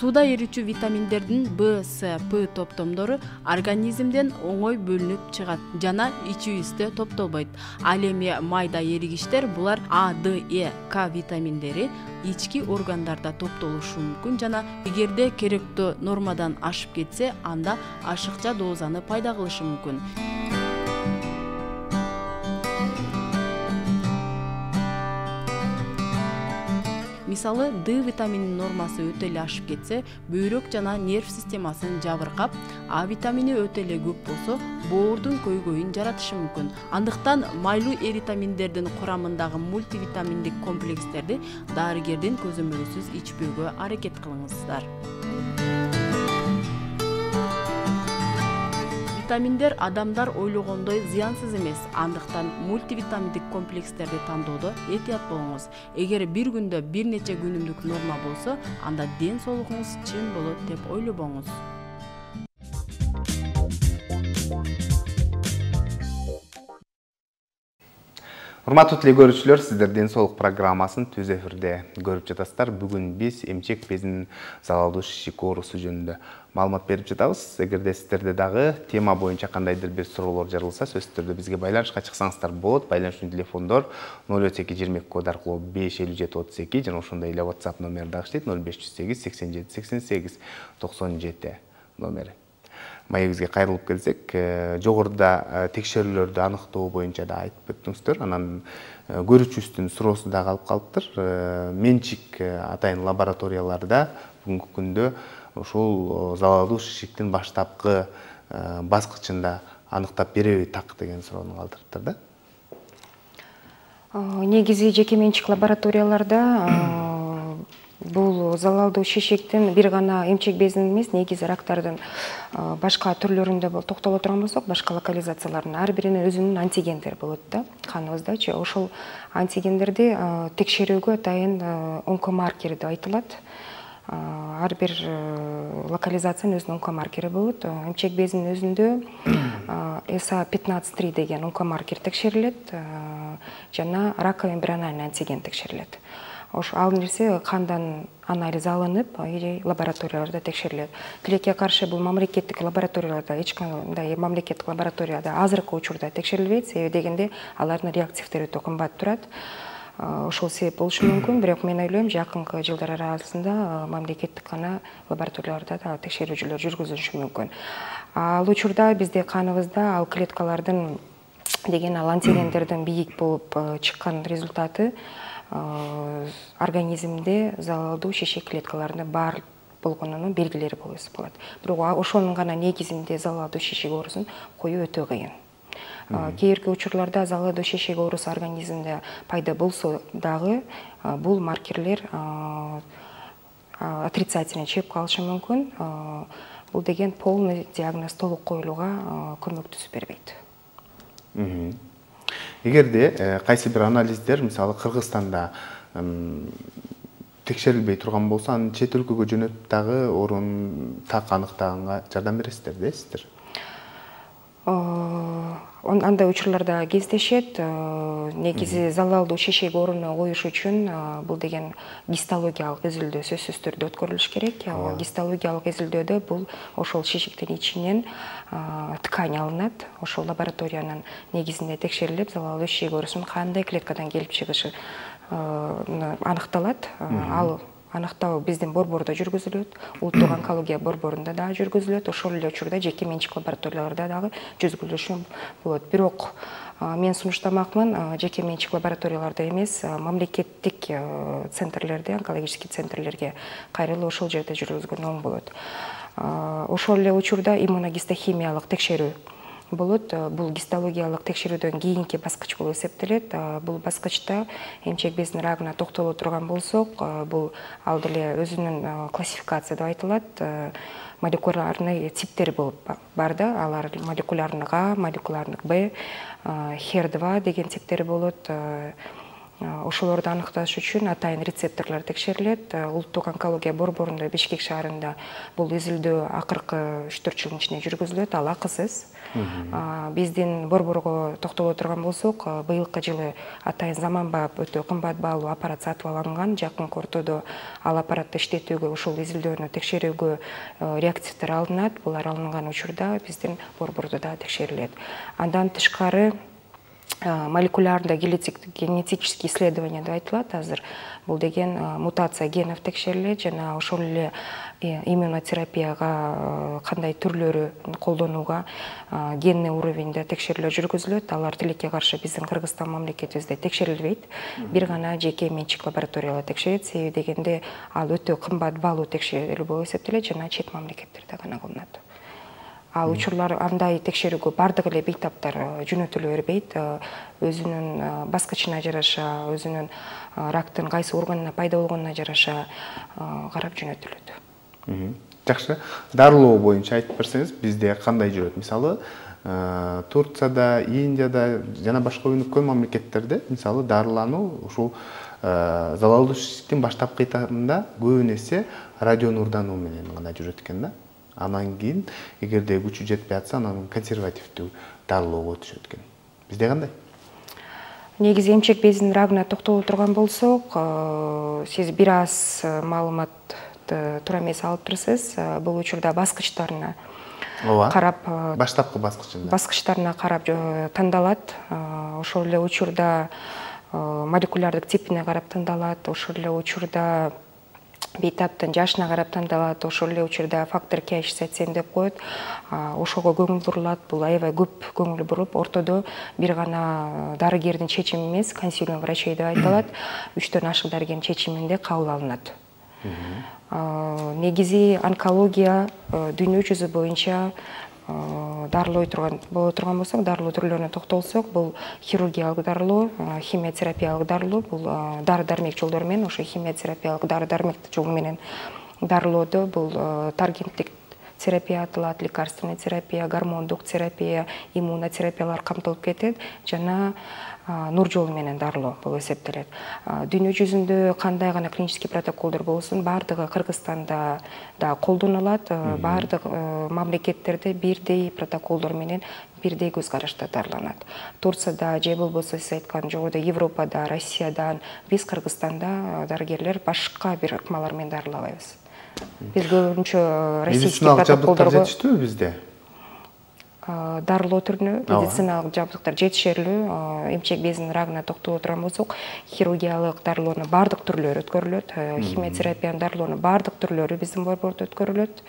Сууда эрүүчү витаминдердин В, С, П топтомдору организмден оңой бөлүнүп чыгат жана ичүүбүздө топтолбойт. Ал эми майда эригиштер булар А, Д, Э, К витаминдери ички органдарда топтолушу мүмкүн жана эгерде керектүү нормадан ашып кетсе, анда ашыкча дозаны пайда кылышы мүмкүн. Мисалы, Д витамининин нормасы өтө эле ашып кетсе, бөйрөк жана нерв системасын жабыркап, А витамини өтө эле көп болсо, боордун көйгөйүн жаратышы мүмкүн. Андыктан майлуу эритаминдердин курамындагы мультивитаминдик комплекстерди дарыгердин көзөмөлүсүз ичпөөгө аракет кылыңыздар. Витаминдер адамдар ойлогондой зыянсыз эмес. Андыктан мультивитаминдик комплекстерди тандоодо этият болуңуз. Эгер бир күндө бир нече күнүмдүк норма болсо, анда ден соолугуңуз чын болот деп ойлобоңуз. Урматтуу телекөрүүчүлөр, сиздер ден соолук программасын түз эфирде көрүп жатасыздар. Бүгүн биз эмчек безинин залалдуу шишик оорусу жөнүндө маалымат берип жатабыз. Эгерде сиздерде дагы тема боюнча кандайдыр бир суроолор жарылса, сөзсүз түрдө бизге байланышка чыксаңыздар болот. Байланыштын телефондор ноль отуз эки жыйырма эки код аркылуу беш элүү жети отуз эки жана ошондой эле WhatsApp номери дагы иштейт ноль беш жүз сегиз сексен жети сексен сегиз токсон жети номери. Маегибизге кайрылып келсек, жогоруда текшерүүлөрдү аныктоо боюнча да айтып өттүңүздөр. Анан көрүүчүбүздүн суроосу да калып калыптыр. Менчик атайын лабораторияларда бүгүнкү күндө ушул залалдуу шишиктин баштапкы баскычында аныктап береби так деген суроону калтырыптыр да. Негизи жеке менчик лабораторияларда бул залалдуу шишиктин бир гана эмчек безинин эмес, негизи рактардын башка түрлөрүндө токтоло турган болсок, башка локализациялардын ар биринин өзүнүн антигендери болот да, каныбыздачы. Ошол антигендерди текшерүүгө атайын онкомаркер деп айтылат. Ар бир локализациянын өзүнүн онкомаркери болот. Эмчек безинин өзүндө эс а пятнадцать три деген онкомаркер текшерилет жана раковый эмбриональный антиген текшерилет. Ош ал нерсе кандан анализ алынып, лабораторияларда текшерилет. Тилекке каршы бул мамлекеттик лабораторияларда, эч кандай мамлекеттик лабораторияда азыркы учурда текшерилбейт, себеби дегенде алардын реактивдери өтө кымбат турат. Ошол себеп болушу мүмкүн, бирок мен ойлойм, жакынкы жылдар арасында мамлекеттик гана лабораторияларда да текшерүүчүлөр жүргүзүлүшү мүмкүн. Ал учурда бизде каныбызда ал клеткалардын деген ал антигендердин бийик болуп чыккан результаты организмде залалдуу шишик клеткаларында бар болгонунун белгилери болуп эсептелет. Бирок ошонун гана негизинде залалдуу шишик оорусун коюу өтө кыйын. Кээинки учурларда залалдуу шишик оорусу организмде пайда болсо дагы бул маркерлер отрицательный чыгып калышы мүмкүн. Бул деген полный диагноз толук коюлууга көмөктөшүп бербейт. Эгерде кайсы бир анализдер, мисалы Кыргызстанда текшерилбей турган болсо, аны чет өлкөгө жөнөтүп дагы орун так аныктаганга жардам бересиздер дейсиздер? Андай учурларда кездешет. Негизи залалдуу шишик ооруну коюш үчүн бул деген гистологиялык изилдөө сөзсүз түрдө өткөрүлүш керек. Гистологиялык изилдөөдө бул ошол шишиктин ичинен ткань алынат. Ошол лабораториянын негизинде текшерилип, залалдуу шишик оорусунун кандай клеткадан келип чыгышы аныкталат. Ал аныктоо биздин борбордо жүргүзүлөт, улуттук онкология борборунда дагы жүргүзүлөт, ошол эле учурда жеке менчик лабораторияларда дагы жүргүзүлүшү болот. Бирок мен сунуштамакмын, жеке менчик лабораторияларда эмес, мамлекеттик центрлерде, онкологический центрлерге кайрылып ошол жерде жүргүзгөн оң болот. Ошол эле учурда иммуногистохимиялык текшерүү болот. Бул гистологиялык текшерүүдөн кийинки баскыч болуп эсептелет. Бул баскычта эмчек безинин рагына токтоло турган болсок, бул ал деле өзүнүн классификация деп айтылат. Молекулярный типтери болуп бар да, алар молекулярный А, молекулярный Б, хер два деген типтери болот. Ошолорду аныкташ үчүн атайын рецепторлор текшерилет. Улуттук онкология борборунда Бишкек шаарында бул изилдөө акыркы үч төрт жылдын ичинде жүргүзүлөт, ал акысыз. Биздин борборго токтоло турган болсок, быйылкы жылы атайын заманбап өтө кымбат баалуу аппарат сатып алынган. Жакынкы ортодо ал аппаратты иштетүүгө, ошол изилдөөнү текшерүүгө реактивдер алынат. Булар алынган учурда биздин борбордо да текшерилет. Андан тышкары молекулярда генетический исследование деп айтылат азыр. Бул деген мутация генов текшерилет жана ошол эле иммунотерапияга кандай түрлөрү колдонууга генный уровеньде текшерүүлөр жүргүзүлөт. Алар тилекке каршы биздин Кыргызстан мамлекетибизде текшерилбейт. Бир гана жеке менчик лабораториялар текшерет. Себеби дегенде ал өтө кымбат баалуу текшерүү болуп эсептелет жана чет мамлекеттерде гана кылынат. Ал учурлар андай текшерүүгө бардык эле бейтаптар жөнөтүлө бербейт. Өзүнүн баскычына жараша, өзүнүн рактын кайсы органына пайда болгонуна жараша карап жөнөтүлөт. Жакшы. Дарылоо боюнча айтып берсеңиз, бизде кандай жүрөт? Мисалы, Турцияда, Индияда жана башка өнүккөн мамлекеттерде мисалы дарылануу ушул залалдуу ишиктин баштапкы этабында көбүн эсе радио нурдануу менен гана жүрөт экен да. Анан кийин эгерде күчү жетпей атса, анан консервативдүү дарылоого өтүшөт экен. Бизде кандай? Негизи эмчек безинин рагына токтоло турган болсок, сиз бир аз маалыматты туура эмес алып турсуз. Бул учурда баскычтарына карап, баштапкы баскычында. Баскычтарына карап тандалат. Ошол эле учурда молекулярдык типине карап тандалат. Ошол эле учурда бейтаптын жашына карап тандалат. Ошол эле учурда фактор К шестьдесят семь деп коет. Ошого көңүл бурулат. Бул аябай көп көңүл буруп, ортодо бир гана дарыгердин чечими эмес, консилиум врачей деп айтылат. Үчтөн ашык дарыгердин чечиминде кабыл алынат. Негизи онкология дүйнө жүзү боюнча дарылой турган боло турган болсок, дарылоо түрлөрүнө токтолсок, бул хирургиялык дарылоо, химиотерапиялык дарылоо, бул дары-дармек жолдору менен, ошо химиотерапиялык дары-дармек жолу менен дарылоодо бул таргенттик терапия аталат, лекарственный терапия, гормондук терапия, иммунотерапиялар камтылып кетет жана нур жолу менен дарылоо болуп эсептелет. Дүйнө жүзүндө кандай гана клинический протоколдор болсун, бардыгы Кыргызстанда да колдонулат. Бардык мамлекеттерде бирдей протоколдор менен бирдей көз карашта дарыланат. Турцияда же болбосо сиз айткан жогоруда Европада, Россиядан, биз Кыргызстанда дарыгерлер башка бир ыкмалар менен дарылабайбыз. Биз көбүнчө российский протоколдорго жетиштүүбү бизде? Дарылоо түрүнө медициналык жабдыктар жетишерлүү. Эмчек безинин рагына токтоло турган болсок, хирургиялык дарылоонун бардык түрлөрү өткөрүлөт. Химиотерапиянын дарылоонун бардык түрлөрү биздин борбордо өткөрүлөт.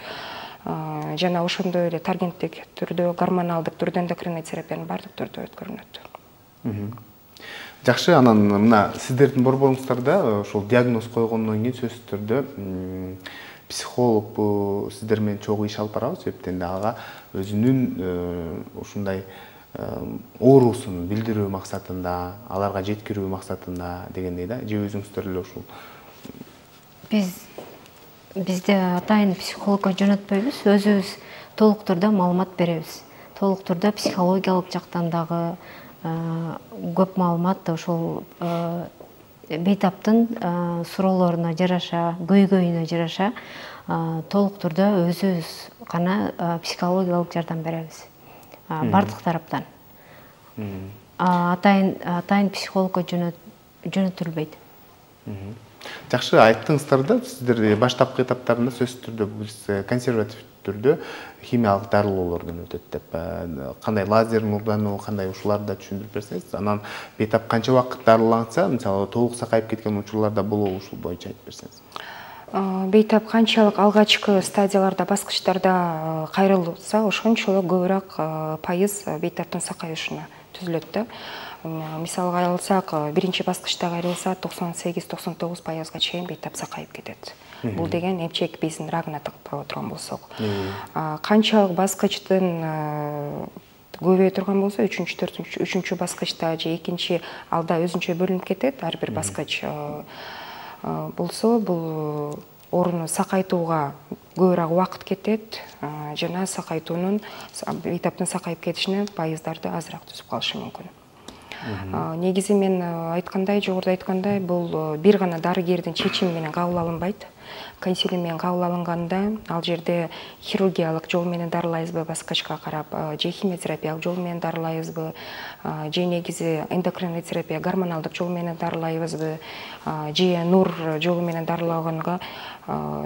Жана ошондой эле таргенттик түрдө, гормоналдык түрдө эндокринный терапиянын бардык түрдө өткөрүлөт. Жакшы, анан мына сиздердин борборуңуздарда ошол диагноз койгондон кийин сөзсүз түрдө психолог сиздер менен чогуу иш алып барабыз, себептен да ага өзүнүн ушундай оорусун билдирүү максатында, аларга жеткирүү максатында дегендей да, же өзүңүздөр эле ушул биз бизде атайын психологко жөнөтпөйбүз, өзүбүз толук турда маалымат беребиз. Толук турда психологиялык жактан дагы көп маалымат ошол бейтаптын суроолоруна жараша, көйгөйүнө жараша толук турда өзүбүз гана психологиялык жардам беребиз. Бардык тараптан. Атайын атайын психологко жөнөтүлбөйт. Жакшы, айттыңыздар да, сиздер баштапкы этаптарында сөзсүз түрдө биз консерватив түрдө химиялык дарылоолордон өтөт деп, кандай лазер нурдануу, кандай ушуларды да түшүндүрүп берсеңиз, анан бейтап канча убакыт дарыланса, мисалы толук сакайып кеткен учурларда болобу, ушул боюнча айтып берсеңиз. Бейтап канчалык алгачкы стадияларда, баскычтарда кайрылса, ошончолук көбүрөөк пайыз бейтаптын сакайышына түзүлөт да. Мисалга алсак, биринчи баскычта кайрылса токсон сегиз токсон тогуз пайызга чейин бейтап сакайып кетет. Бул деген эмчек безинин рагына токтоло турган болсок. Канчалык баскычтын көбөйө турган болсо, үчүнчү, төртүнчү, үчүнчү баскычта же экинчи алда өзүнчө бөлүнүп кетет. Ар бир баскыч болсо, бул ооруну сакайтууга көбүрөөк убакыт кетет жана сакайтуунун, бейтаптын сакайып кетишине пайыздарды азыраак түзүп калышы мүмкүн. Негизи мен айткандай, жогоруда айткандай, бул бир гана дарыгердин чечими менен кабыл алынбайт. Консилиум менен кабыл алынганда, ал жерде хирургиялык жол менен дарылайбызбы баскычка карап, же химиотерапиялык жол менен дарылайбызбы, же негизи эндокринный терапия, гормоналдык жол менен дарылайбызбы, же нур жолу менен дарылаганга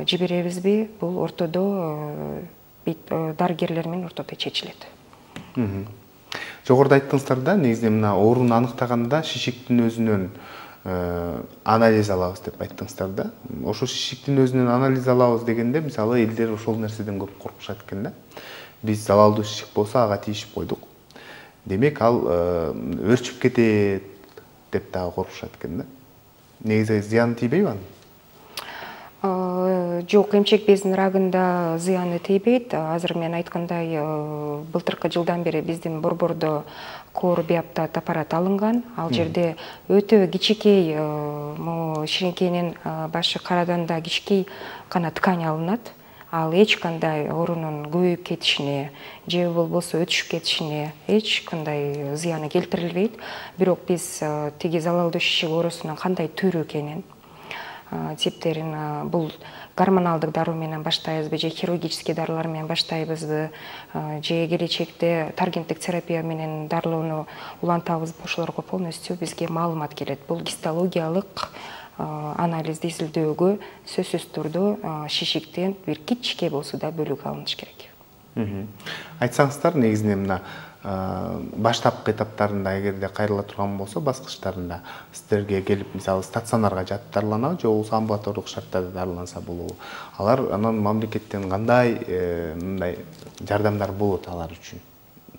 жиберебизби, бул ортодо дарыгерлер менен ортодо чечилет. Жогоруда айттыңыздар да, негизинен мына ооруну аныктаганда шишиктин өзүнөн анализ алабыз деп айттыңыздар да. Ошо шишиктин өзүнөн анализ алабыз дегенде, мисалы элдер ошол нерседен көп коркушат экен да. Биз залалдуу шишик болсо ага тийишип койдук. Демек ал өрчүп кетет деп дагы коркушат экен да. Негизи зыяны тийбейби анын? Жок, эмчек безинин рагында зыяны тийбейт. Азыр мен айткандай, былтыркы жылдан бери биздин борбордо кор биоптат аппарат алынган. Ал жерде өтө кичинекей, ширинкенин башы карадан да кичинекей гана ткань алынат. Ал эч кандай оорунун көбөйүп кетишине же болбосо өтүшүп кетишине эч кандай зыяны келтирилбейт. Бирок биз тиги залалдуу шишик оорусунун кандай түрү экенин, типтерин, бул гормоналдык дароо менен баштайбызбы же хирургический дарылар менен баштайбызбы же келечекте таргенттик терапия менен дарылоону улантабызбы, ошолорго полностью бизге маалымат келет. Бул гистологиялык анализди изилдөөгө сөзсүз түрдө шишиктен бир кичике болсо да бөлүк алыныш керек. Айтсаңыздар, негизинен мына баштапкы этаптарында эгерде кайрыла турган болсо, баскычтарында сиздерге келип, мисалы стационарга жатып дарыланабы же болбосо амбулатордук шарттарда дарыланса болобу? Алар анан мамлекеттен кандай мындай жардамдар болот алар үчүн?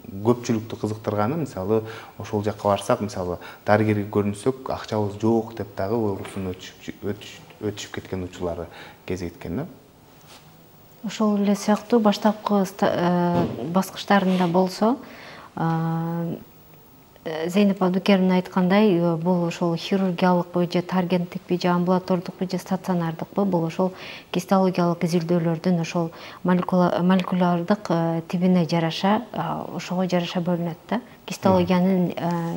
Көпчүлүктү кызыктырганы, мисалы, ошол жакка барсак, мисалы, дарыгерге көрүнсөк, акчабыз жок деп дагы оорусун өтүшүп кеткен учурлары кезиккен да. Ошол эле сыяктуу баштапкы баскычтарында болсо, Зейнеп Абдукеровна айткандай, бул ошол хирургиялыкпы же таргенттикпи же амбулатордукпу же стационардыкпы, бул ошол гистологиялык изилдөөлөрдүн ошол молекулярдык тибине жараша, ошого жараша бөлүнөт да. Гистологиянын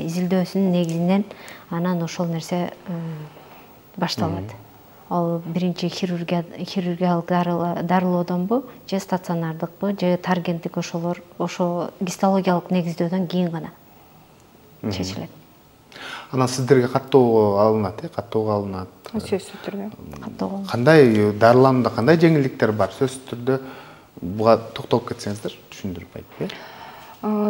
изилдөөсүнүн негизинен анан ошол нерсе башталат. Ал биринчи хирургиялык дарылоодонбу же стационардыкпы же таргенттик, ошолор ошо гистологиялык негиздөөдөн кийин гана чечилет. Анан сиздерге каттоого алынат, э, каттоого алынат. Сөзсүз түрдө. Каттоого. Кандай дарыланууда кандай жеңилдиктер бар? Сөзсүз түрдө буга токтолуп кетсеңиздер, түшүндүрүп айтып, э?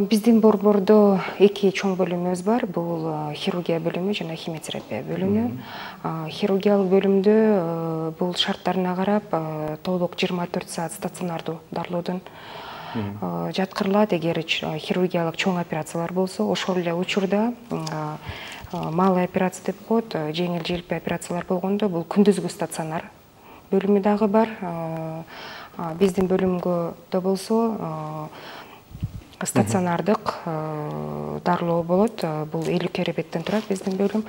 Биздин борбордо эки чоң бөлүмүбүз бар. Бул хирургия бөлүмү жана химиотерапия бөлүмү. Хирургиялык бөлүмдө бул шарттарына карап толук жыйырма төрт саат стационардуу дарылоодон жаткырылат. Эгер хирургиялык чоң операциялар болсо, ошол эле учурда малый операция деп коет, жеңил желпи операциялар болгондо бул күндүзгү стационар бөлүмү дагы бар. Биздин бөлүмгө да болсо стационардык дарылоо болот. Бул элүү керебеттен турат биздин бөлүм.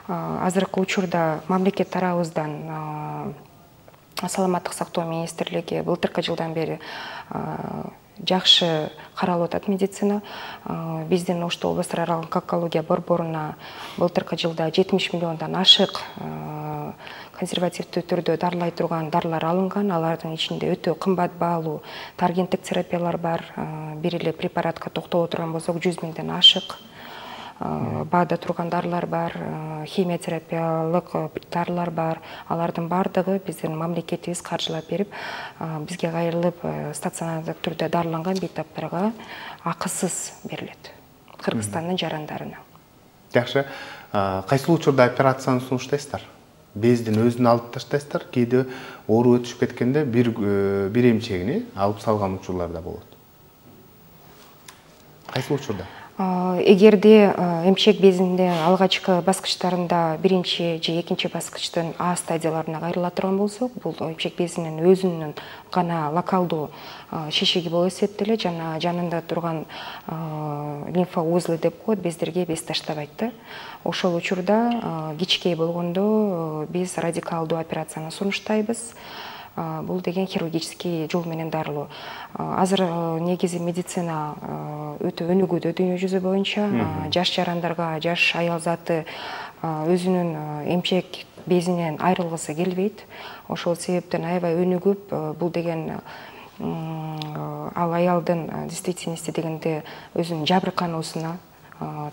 Азыркы учурда мамлекет тарабыбыздан Саламаттык сактоо министрлиги былтыркы жылдан бери жакшы каралып атат медицина. Биздин Ош облустар аралык онкология борборуна былтыркы жылда жетимиш миллиондон ашык консервативдүү түрдө дарылай турган дарылар алынган. Алардын ичинде өтө кымбат баалуу таргенттик терапиялар бар. Бир эле препаратка токтоло турган болсок, жүз миңден ашык баада турган дарылар бар, химиотерапиялык дарылар бар. Алардын бардыгы биздин мамлекетибиз каржылап берип, бизге кайрылып стационардык түрдө дарыланган бейтаптарга акысыз берилет. Кыргызстандын жарандарына. Жакшы. Кайсыл учурда операцияны сунуштайсыздар? Бездин өзүн алып таштайсыздар, кээде оору өтүшүп кеткенде бир бир эмчегини алып салган учурлар да болот. Кайсыл учурда? Эгерде эмчек безинин алгачкы баскычтарында биринчи же экинчи баскычтын А стадияларына кайрыла турган болсок, бул эмчек безинин өзүнүн гана локалдуу шишиги болуп эсептелет жана жанында турган лимфоузлы деп коет, бездерге без таштабайт да. Ошол учурда кичикей болгондо биз радикалдуу операцияны сунуштайбыз. Бул деген хирургический жол менен дарылоо. Азыр негизи медицина өтө өнүгүүдө дүйнө жүзү боюнча. Жаш жарандарга жаш аял заты өзүнүн эмчек безинен айрылгысы келбейт. Ошол себептен аябай өнүгүп, бул деген ал аялдын действительности дегенде өзүнүн жабыркануусуна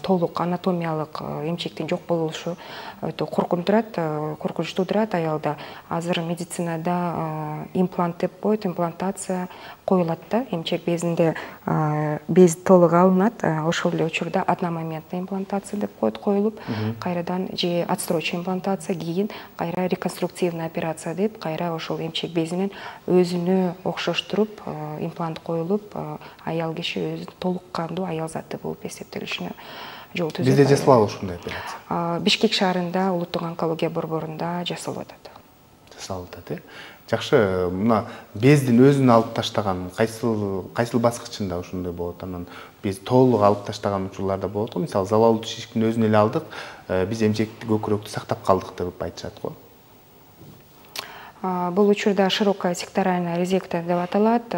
толук анатомиялык эмчектин жок болушу өтө коркунуп турат, коркунуч туудурат аялда. Азыр медицинада имплант деп коет, имплантация коюлат да, эмчек безинде без толук алынат, ошол эле учурда одномоментный имплантация деп коет, коюлуп, кайрадан же отсрочный имплантация, кийин кайра реконструктивный операция деп, кайра ошол эмчек безинен өзүнө окшоштуруп имплант коюлуп, аял киши өзү толук кандуу аял заты болуп эсептелишине жол түзөт. Бизде жасалабы ушундай операция? Бишкек шаарында улуттук онкология борборунда жасалып атат. Жасалып атат, э? Жакшы, мына бездин өзүн алып таштаган кайсыл кайсыл баскычында ушундай болот? Анан без толук алып таштаган учурларда болот го. Мисалы, залалдуу шишиктин өзүн эле алдык, биз эмчекти көкүрөктү сактап калдык деп айтышат го. Бул учурда широкая секторальная резекция деп аталат.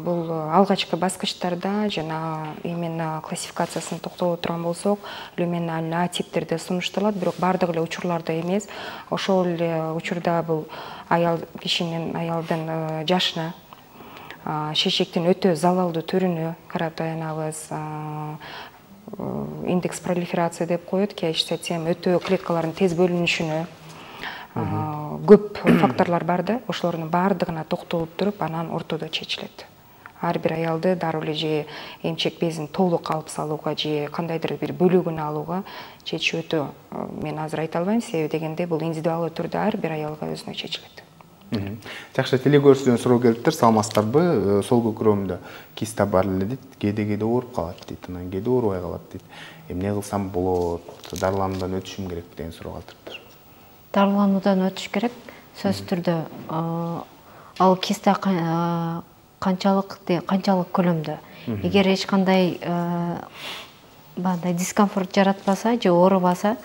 Бул алгачкы баскычтарда жана именно классификациясын токтоло турган болсок, люминальный А типтерде сунушталат, бирок бардык эле учурларда эмес. Ошол эле учурда бул аял кишинин аялдын жашына, шишиктин өтө залалдуу түрүнө карап таянабыз. Индекс пролиферация деп коет, кээшсе тем өтө клеткалардын тез бөлүнүшүнө көп факторлор бар да, ошолордун баардыгына токтолуп туруп, анан ортодо чечилет. Ар бир аялды дароо эле же эмчек безин толук алып салууга же кандайдыр бир бөлүгүн алууга чечүү өтө, мен азыр айта албайм, себеби дегенде бул индивидуалдуу түрдө ар бир аялга өзүнө чечилет. Жакшы, телекөрүүчүдөн суроо келиптир, саламатсыздарбы? Сол көкүрөгүмдө киста бар эле дейт, кээде кээде ооруп калат дейт, анан кээде оорубай калат дейт. Эмне кылсам болот? Дарылануудан өтүшүм керек деген суроо калтырыптыр. Дарылануудан өтүш керек, сөзсүз түрдө. Ал киста канчалык канчалык көлөмдө. Эгер эч кандай бандай дискомфорт жаратпаса же оорубаса,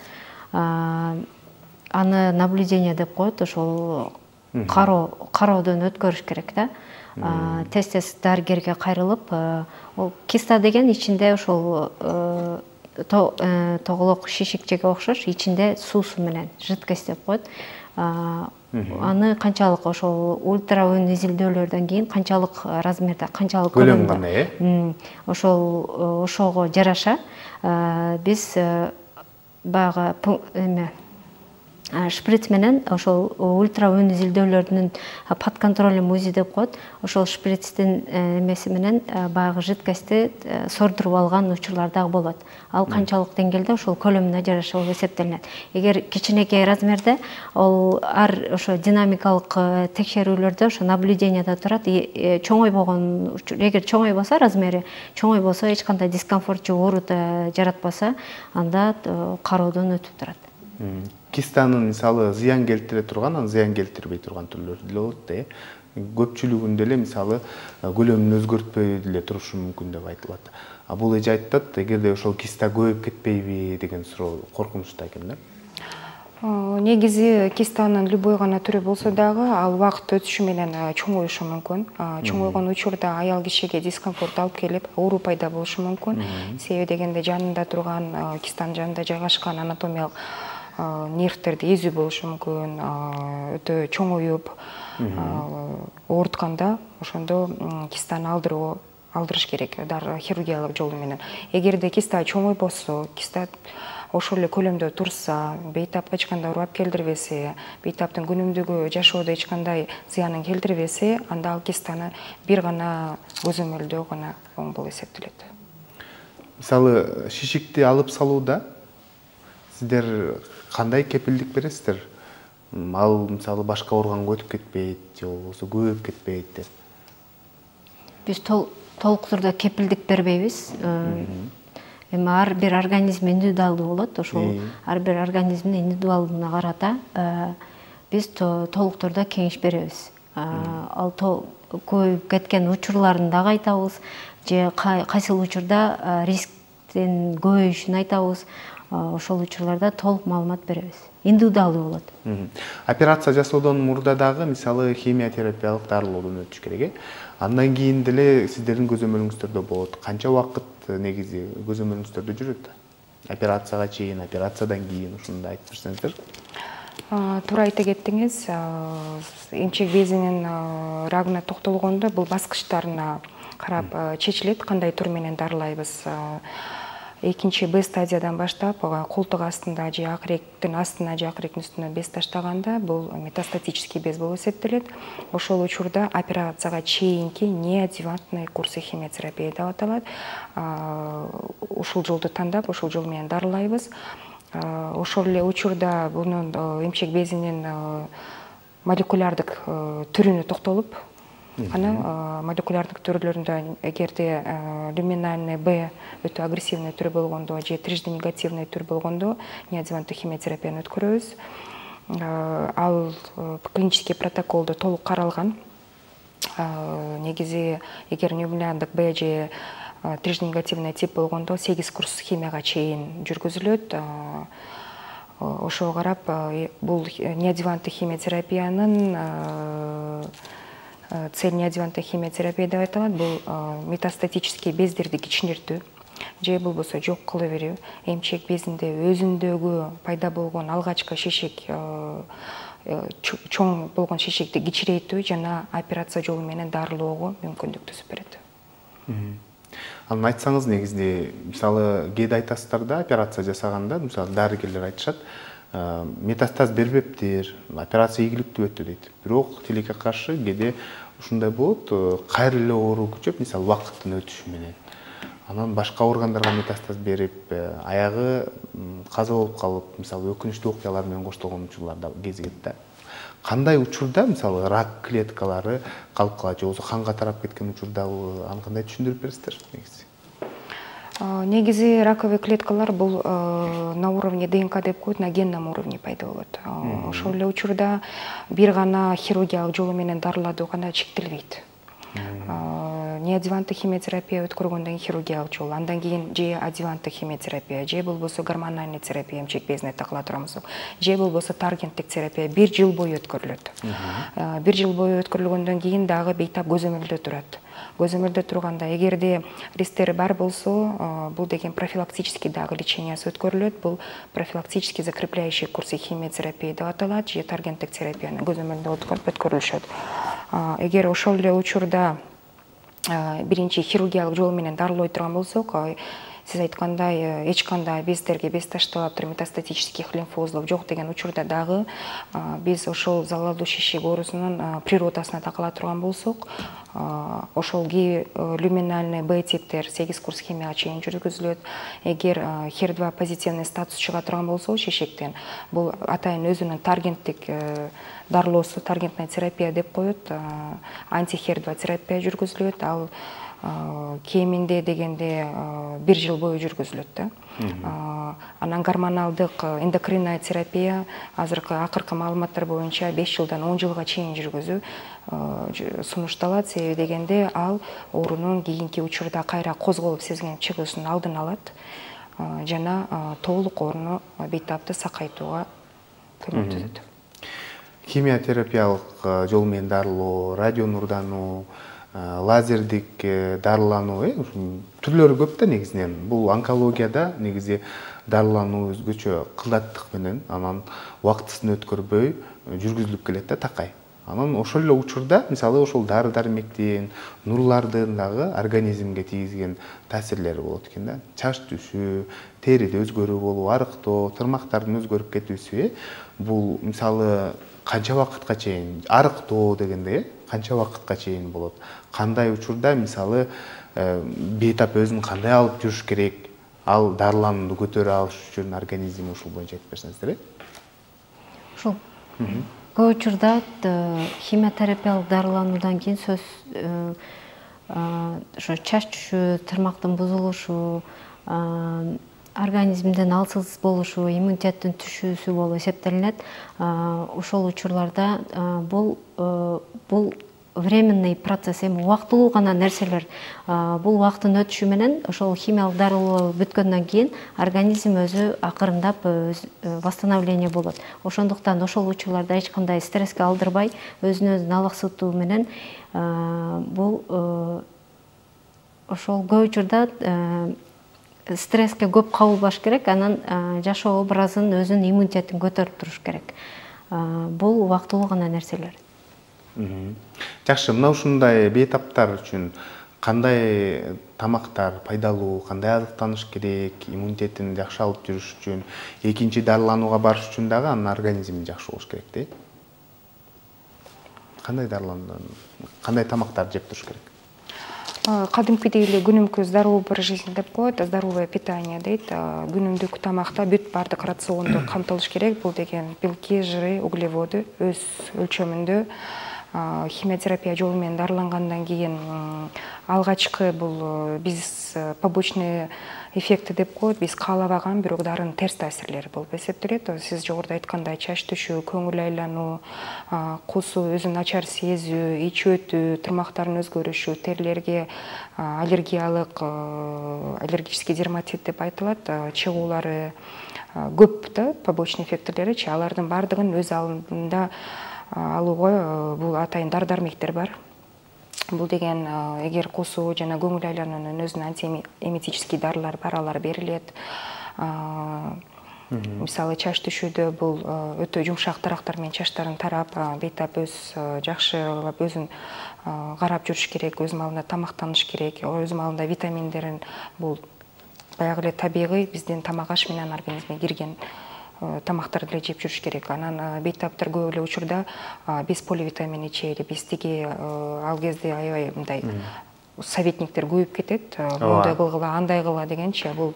аны наблюдение деп коет, ошол кароо кароодон өткөрүш керек да. Тез-тез дарыгерге кайрылып, ол киста деген ичинде ошол тоголок шишикчеге окшош, ичинде суусу менен жидкость деп коет. Аны канчалык ошол ультраүн изилдөөлөрдөн кийин канчалык размерде, канчалык көлөмдө, ошол ошого жараша биз баягы эме шприц менен ошол ультраүн изилдөөлөрдүн под контролем УЗИ деп коет. Ошол шприцтин эмеси менен баягы жидкостьти сордуруп алган учурлар дагы болот. Ал канчалык деңгээлде ошол көлөмүнө жараша болуп эсептелинет. Эгер кичинекей размерде, ол ар ошо динамикалык текшерүүлөрдө ошо наблюдениеде турат. Чоңой болгон, эгер чоңой болсо размери, чоңой болсо эч кандай дискомфорт же оору жаратпаса, анда кароодон өтүп турат. Кистанын мисалы зыян келтире турган, анан зыян келтирбей турган түрлөрү деле болот да. Көпчүлүгүндө эле мисалы көлөмүн өзгөртпөй деле турушу мүмкүн деп айтылат. А бул эже айтат, эгерде ошол киста көбөйүп кетпейби деген суроо коркунучта экен да. Негизи кистанын любой гана түрү болсо дагы, ал убакыт өтүшү менен чоңоюшу мүмкүн. Чоңойгон учурда аял кишиге дискомфорт алып келип, оору пайда болушу мүмкүн. Себеби дегенде жанында турган, кистанын жанында жайгашкан анатомиялык нервтерди эзүү болушу мүмкүн, өтө чоңоюп, оорутканда ошондо кистаны алдыруу алдырыш керек, хирургиялык жолу менен. Эгерде киста чоңой болсо, киста ошол эле көлөмдө турса, бейтапка эч кандай урап келтирбесе, бейтаптын күнүмдүгү жашоодо эч кандай зыянын келтирбесе, анда ал кистаны бир гана көзөмөлдөө гана оң болуп эсептелет. Мисалы, шишикти алып салууда сиздер кандай кепилдик бересиздер? Ал мисалы башка органга өтүп кетпейт, же болбосо көбөйүп кетпейт деп. Биз толук түрдө кепилдик бербейбиз. Эми ар бир организм индивидуалдуу болот, ошол ар бир организмдин индивидуалдууна карата биз толук түрдө кеңеш беребиз. Ал көбөйүп кеткен учурларын дагы айтабыз, же кайсыл учурда рисктин көбөйүшүн айтабыз. Ошол учурларда толук маалымат беребиз. Индивидуалдуу болот. Операция жасоодон мурда дагы мисалы химиотерапиялык дарылоодон өтүш керек. Андан кийин деле сиздердин көзөмөлүңүздөрдө болот. Канча убакыт негизи көзөмөлүңүздөрдө жүрөт? Операцияга чейин, операциядан кийин ушундай айтып берсеңиздер. Туура айта кеттиңиз. Эмчек безинин рагына токтолгондо бул баскычтарына карап чечилет, кандай тур менен дарылайбыз. экинчи Б стадиядан баштап колтук астында же акыректин астына же акыректин үстүнө без таштаганда бул метастатический без болуп эсептелет. Ошол учурда операцияга чейинки неоадъювантный курсы химиотерапия деп аталат. Ушул жолду тандап, ушул жол менен дарылайбыз. Ошол эле учурда бунун эмчек безинин молекулярдык түрүнө токтолуп, анан молекулярдык түрлөрүндө эгерде люминальный Б өтө агрессивный түрү болгондо же трижды негативный түр болгондо неоадъюванттык химиотерапияны өткөрөбүз. Ал клинический протоколдо толук каралган. Негизи эгер люминальдык Б же трижды негативный тип болгондо сегиз курс химияга чейин жүргүзүлөт. Ошого карап бул неоадъюванттык химиотерапиянын цель неоадъюванттык химиотерапия деп аталат. Бул метастатический бездерди кичинертүү же болбосо жок кыла берүү, эмчек безинде өзүндөгү пайда болгон алгачкы шешек, чоң болгон шешекти кичирейтүү жана операция жолу менен дарылоого мүмкүндүк түзүп берет. Анан айтсаңыз, негизинде мисалы кээде айтасыздар да, операция жасаганда, мисалы дарыгерлер айтышат, метастаз бербептир, операция ийгиликтүү өттү дейт. Бирок тилекке каршы кээде ушундай болот, кайра эле оору күчөп, мисалы убакыттын өтүшү менен. Анан башка органдарга метастаз берип, аягы каза болуп калып, мисалы өкүнүчтүү окуялар менен коштолгон учурлар да кезигет да. Кандай учурда, мисалы рак клеткалары калып калат, же болбосо канга тарап кеткен учурда аны кандай түшүндүрүп бересиздер негизи? Негизи раковый клеткалар бул на уровне ДНК деп коет, на генном уровне пайда болот. Ошол эле учурда бир гана хирургиялык жолу менен дарылатуу гана чектелбейт. Неоадъюванттык химиотерапия өткөргөндөн кийин хирургиялык жол, андан кийин же адъюванттык химиотерапия, же болбосо гормональный терапия, эмчек безине такыла турган болсок, же болбосо таргенттик терапия бир жыл бою өткөрүлөт. Бир жыл бою өткөрүлгөндөн кийин дагы бейтап көзөмөлдө турат. Көзөмөлдө турганда эгерде рисктери бар болсо, бул деген профилактический дагы лечениясы өткөрүлөт. Бул профилактический закрепляющий курсы химиотерапия деп аталат, же таргенттик терапияны көзөмөлдө өткөрүлүшөт. Эгер ошол эле учурда биринчи хирургиялык жол менен дарылой турган болсок, сиз айткандай эч кандай бездерге без ташталаптыр, метастатических лимфоузлов жок деген учурда дагы биз ошол залалдуу шишек оорусунун природасына такыла турган болсок, ошол люминальный Б типтер сегиз курс химияга чейин жүргүзүлөт. Эгер хер два позитивный статус чыга турган болсо шишектен, бул атайын өзүнүн таргенттик дарылоосу, таргентная терапия деп коет, анти-хер два терапия жүргүзүлөт. Ал кеминде дегенде бир жыл бою жүргүзүлөт да. Анан гормоналдык эндокринная терапия азыркы акыркы маалыматтар боюнча беш жылдан он жылга чейин жүргүзүү сунушталат. Себеби дегенде ал оорунун кийинки учурда кайра козголуп сезген чыгуусун алдын алат жана толук ооруну бейтапты сакайтууга көмөктөшөт. Химиотерапиялык жол менен дарылоо, радио нурдануу, лазердик дарылануу түрлөрү көп да негизинен. Бул онкологияда негизи дарылануу өзгөчө кылдаттык менен, анан убактысын өткөрбөй жүргүзүлүп келет да такай. Анан ошол эле учурда, мисалы ошол дары-дармектин, нурлардын дагы организмге тийгизген таасирлери болот экен да. Чач түшүү, териде өзгөрүү болуу, арыктоо, тырмактардын өзгөрүп кетүүсү, бул мисалы канча вакытка чейин, арыктоо дегенде канча вакытка чейин болот? Кандай учурда мисалы бейтап өзүн кандай алып жүрүш керек? Ал дарыланууну көтөрө алыш үчүн организм ушул боюнча айтып берсеңиздер. Ушул көп учурда химиотерапиялык дарылануудан кийин сөз ошо чач түшүү, тырмактын бузулушу, организмден алсыз болушу, иммунитеттин түшүүсү болуп эсептелинет. Ошол учурларда бул бул временный процесс, эми убактылуу гана нерселер. Бул убакыттын өтүшү менен ошол химиялык дарылоо бүткөндөн кийин организм өзү акырындап восстановление болот. Ошондуктан ошол учурларда эч кандай стресске алдырбай, өзүн өзү алаксытуу менен бул ошол көп учурда стресске көп кабылбаш керек, анан жашоо образын, өзүнүн иммунитетин көтөрүп туруш керек. Бул убактылуу гана нерселер. Жакшы, мына ушундай бейтаптар үчүн кандай тамактар пайдалуу, кандай азыктаныш керек, иммунитетин жакшы алып жүрүш үчүн, экинчи дарыланууга барыш үчүн дагы анын организми жакшы болуш керек дейт. Кандай дарылануу, кандай тамактар жеп туруш керек? Кадимкидей эле күнүмкү здоровый образ жизни деп коет, здоровое питание дейт. Күнүмдүк тамакта бүт баардык рационду камтылыш керек. Бул деген белки, жыры, углеводы өз өлчөмүндө. Химиотерапия жолу менен дарылангандан кийин алгачкы бул биз побочный эффекти деп коет, биз каалабаган бирок дарынын терс таасирлери болуп эсептелет. Сиз жогоруда айткандай чач түшүү, көңүл айлануу, кусуу, өзүн начар сезүү, ич өтүү, тырмактардын өзгөрүшү, терилерге аллергиялык, аллергический дерматит деп айтылат, чыгуулары көп да, побочный эффектилеричи, алардын баардыгын өз алдында алууга бул атайын дары дармектер бар. Бул деген эгер кусуу жана көңүл айлануунун өзүнүн антиэметический дарылары бар, алар берилет. Мисалы чач түшүүдө бул өтө жумшак тарактар менен чачтарын тарап, бейтап өз жакшылап өзүн карап жүрүш керек, өз маалында тамактаныш керек, өз маалында витаминдерин бул баягы эле табигый биздин тамак аш менен организмге кирген тамактарды эле жеп жүрүш керек. Анан бейтаптар көп эле учурда биз поливитамин ичели, биз тиги ал кезде аябай мындай советниктер көбөйүп кетет. Мындай кылгыла, андай кыла дегенчи, бул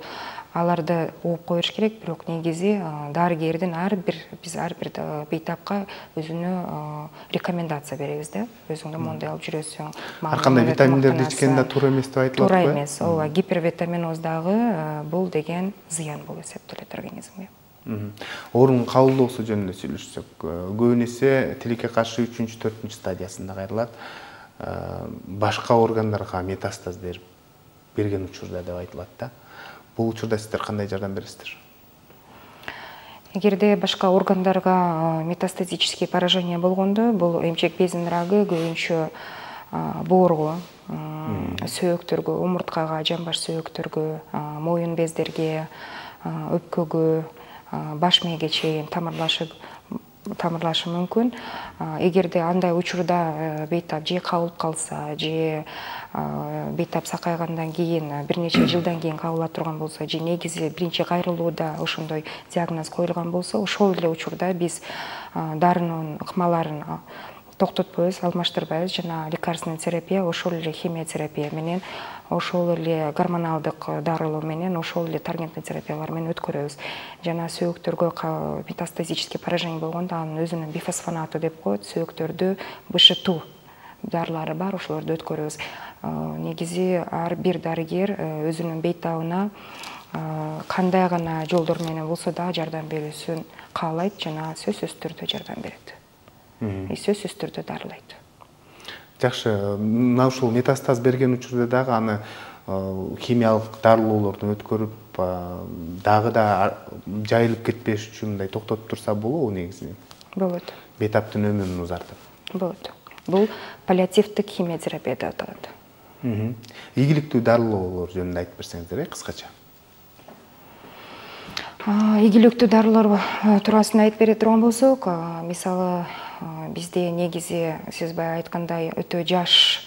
аларды ууп коюш керек, бирок негизи дарыгердин ар бир биз ар бир бейтапка өзүнө рекомендация беребиз да. Өзүңдө моундай алып жүрөсүң. Ар кандай витаминдерди ичкен да туура эмес деп айтылат го. Туура эмес. Ооба, гипервитаминоз дагы бул деген зыян болуп эсептелет организмге. Оорунун кабылдоосу жөнүндө сүйлөшсөк, көбүн эсе тилекке каршы үчүнчү, төртүнчү стадиясында кайрылат. Башка органдарга метастаз берген учурда деп айтылат да. Бул учурда сиздер кандай жардам бересиздер? Эгерде башка органдарга метастатический поражение болгондо, бул эмчек безинин рагы көбүнчө боорго, сөөктөргө, омурткага, жамбаш сөөктөргө, моюн бездерге, өпкөгө, баш мээге чейин тамырлашы тамырлашы мүмкүн. Эгерде андай учурда бейтап же кабылып калса, же бейтап сакайгандан кийин бир нече жылдан кийин кабыла турган болсо, же негизи биринчи кайрылууда ошондой диагноз коюлган болсо, ошол эле учурда биз дарынын ыкмаларын токтотпойбуз, алмаштырбайбыз. Жана лекарственный терапия, ошол эле химиотерапия менен, ошол эле гормоналдык дарылоо менен, ошол эле таргентный терапиялар менен өткөрөбүз. Жана сөөктөргө метастатический поражение болгондо анын өзүнүн бифосфонаты деп коет, сөөктөрдү бэ шэ тэ дарылары бар, ошолорду өткөрөбүз. Негизи ар бир дарыгер өзүнүн бейтабына кандай гана жолдор менен болсо да жардам берүүсүн каалайт жана сөзсүз түрдө жардам берет. И сөзсүз түрдө дарылайт. Жакшы, мына ушул метастаз берген учурда дагы аны химиялык дарылоолордон өткөрүп, дагы да жайылып кетпеш үчүн мындай токтотуп турса болобу негизи? Болот. Бейтаптын өмүрүн узартып. Болот. Бул паллиативдик химиотерапия деп аталат. Ийгиликтүү дарылоолор жөнүндө айтып берсеңиздер, кыскача. Ийгиликтүү дарылар туурасында айтып бере турган болсок, мисалы бизде негизи сиз баягы айткандай өтө жаш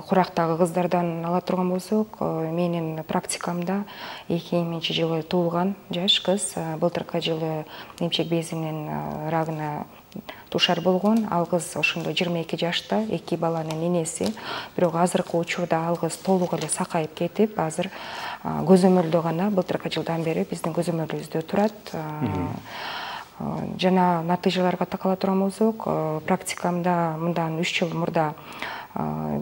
курактагы кыздардан ала турган болсок, менин практикамда эки миңинчи жылы туулган жаш кыз былтыркы жылы эмчек безинин рагына тушар болгон. Ал кыз ошондо жыйырма эки жашта, эки баланын энеси. Бирок азыркы учурда ал кыз толук эле сакайып кетип, азыр көзөмөлдө гана былтыркы жылдан бери биздин көзөмөлүбүздө турат. Жана натыйжаларга такала турган болсок, практикамда мындан үч жыл мурда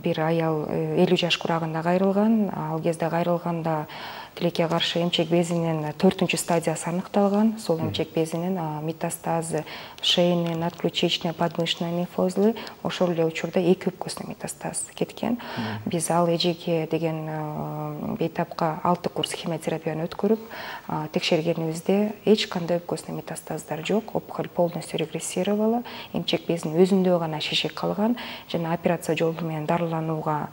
бир аял элүү жаш курагында кайрылган. Ал кезде кайрылганда тилекке каршы эмчек безинин төртүнчү стадиясы аныкталган. Сол эмчек безинин метастазы, шейный, надключичный, подмышечный лимфозлы, ошол эле учурда эки өпкөсүнө метастаз кеткен. Биз ал эжеге деген бейтапка алты курс химиотерапияны өткөрүп, текшергенибизде эч кандай өпкөсүнө метастаздар жок. Опухоль полностью регрессировала. Эмчек безинин өзүндө гана шишик калган. Жана операция жолу менен дарыланууга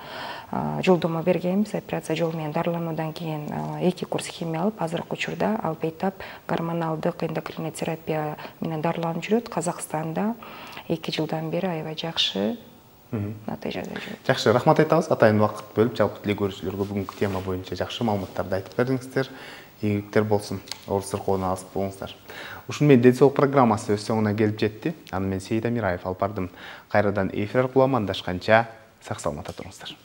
жолдомо бергенбиз. Операция жолу менен дарылануудан кийин эки курс химия алып, азыркы учурда ал бейтап гормоналдык эндокринный терапия менен дарыланып жүрөт. Казакстанда эки жылдан бери аябай жакшы натыйжада жүрөт. Жакшы, рахмат айтабыз. Атайын убакыт бөлүп жалпы тиле көрүүчүлөргө бүгүнкү тема боюнча жакшы маалыматтарды айтып бердиңиздер. Ийгиликтер болсун. Оор сыркоону алып болуңуздар. Ушуну менен Ден соолук программасы өз соңуна келип жетти. Аны мен Сейит Амираев алып бардым. Кайрадан эфир аркылуу амандашканча сак саламатта туруңуздар.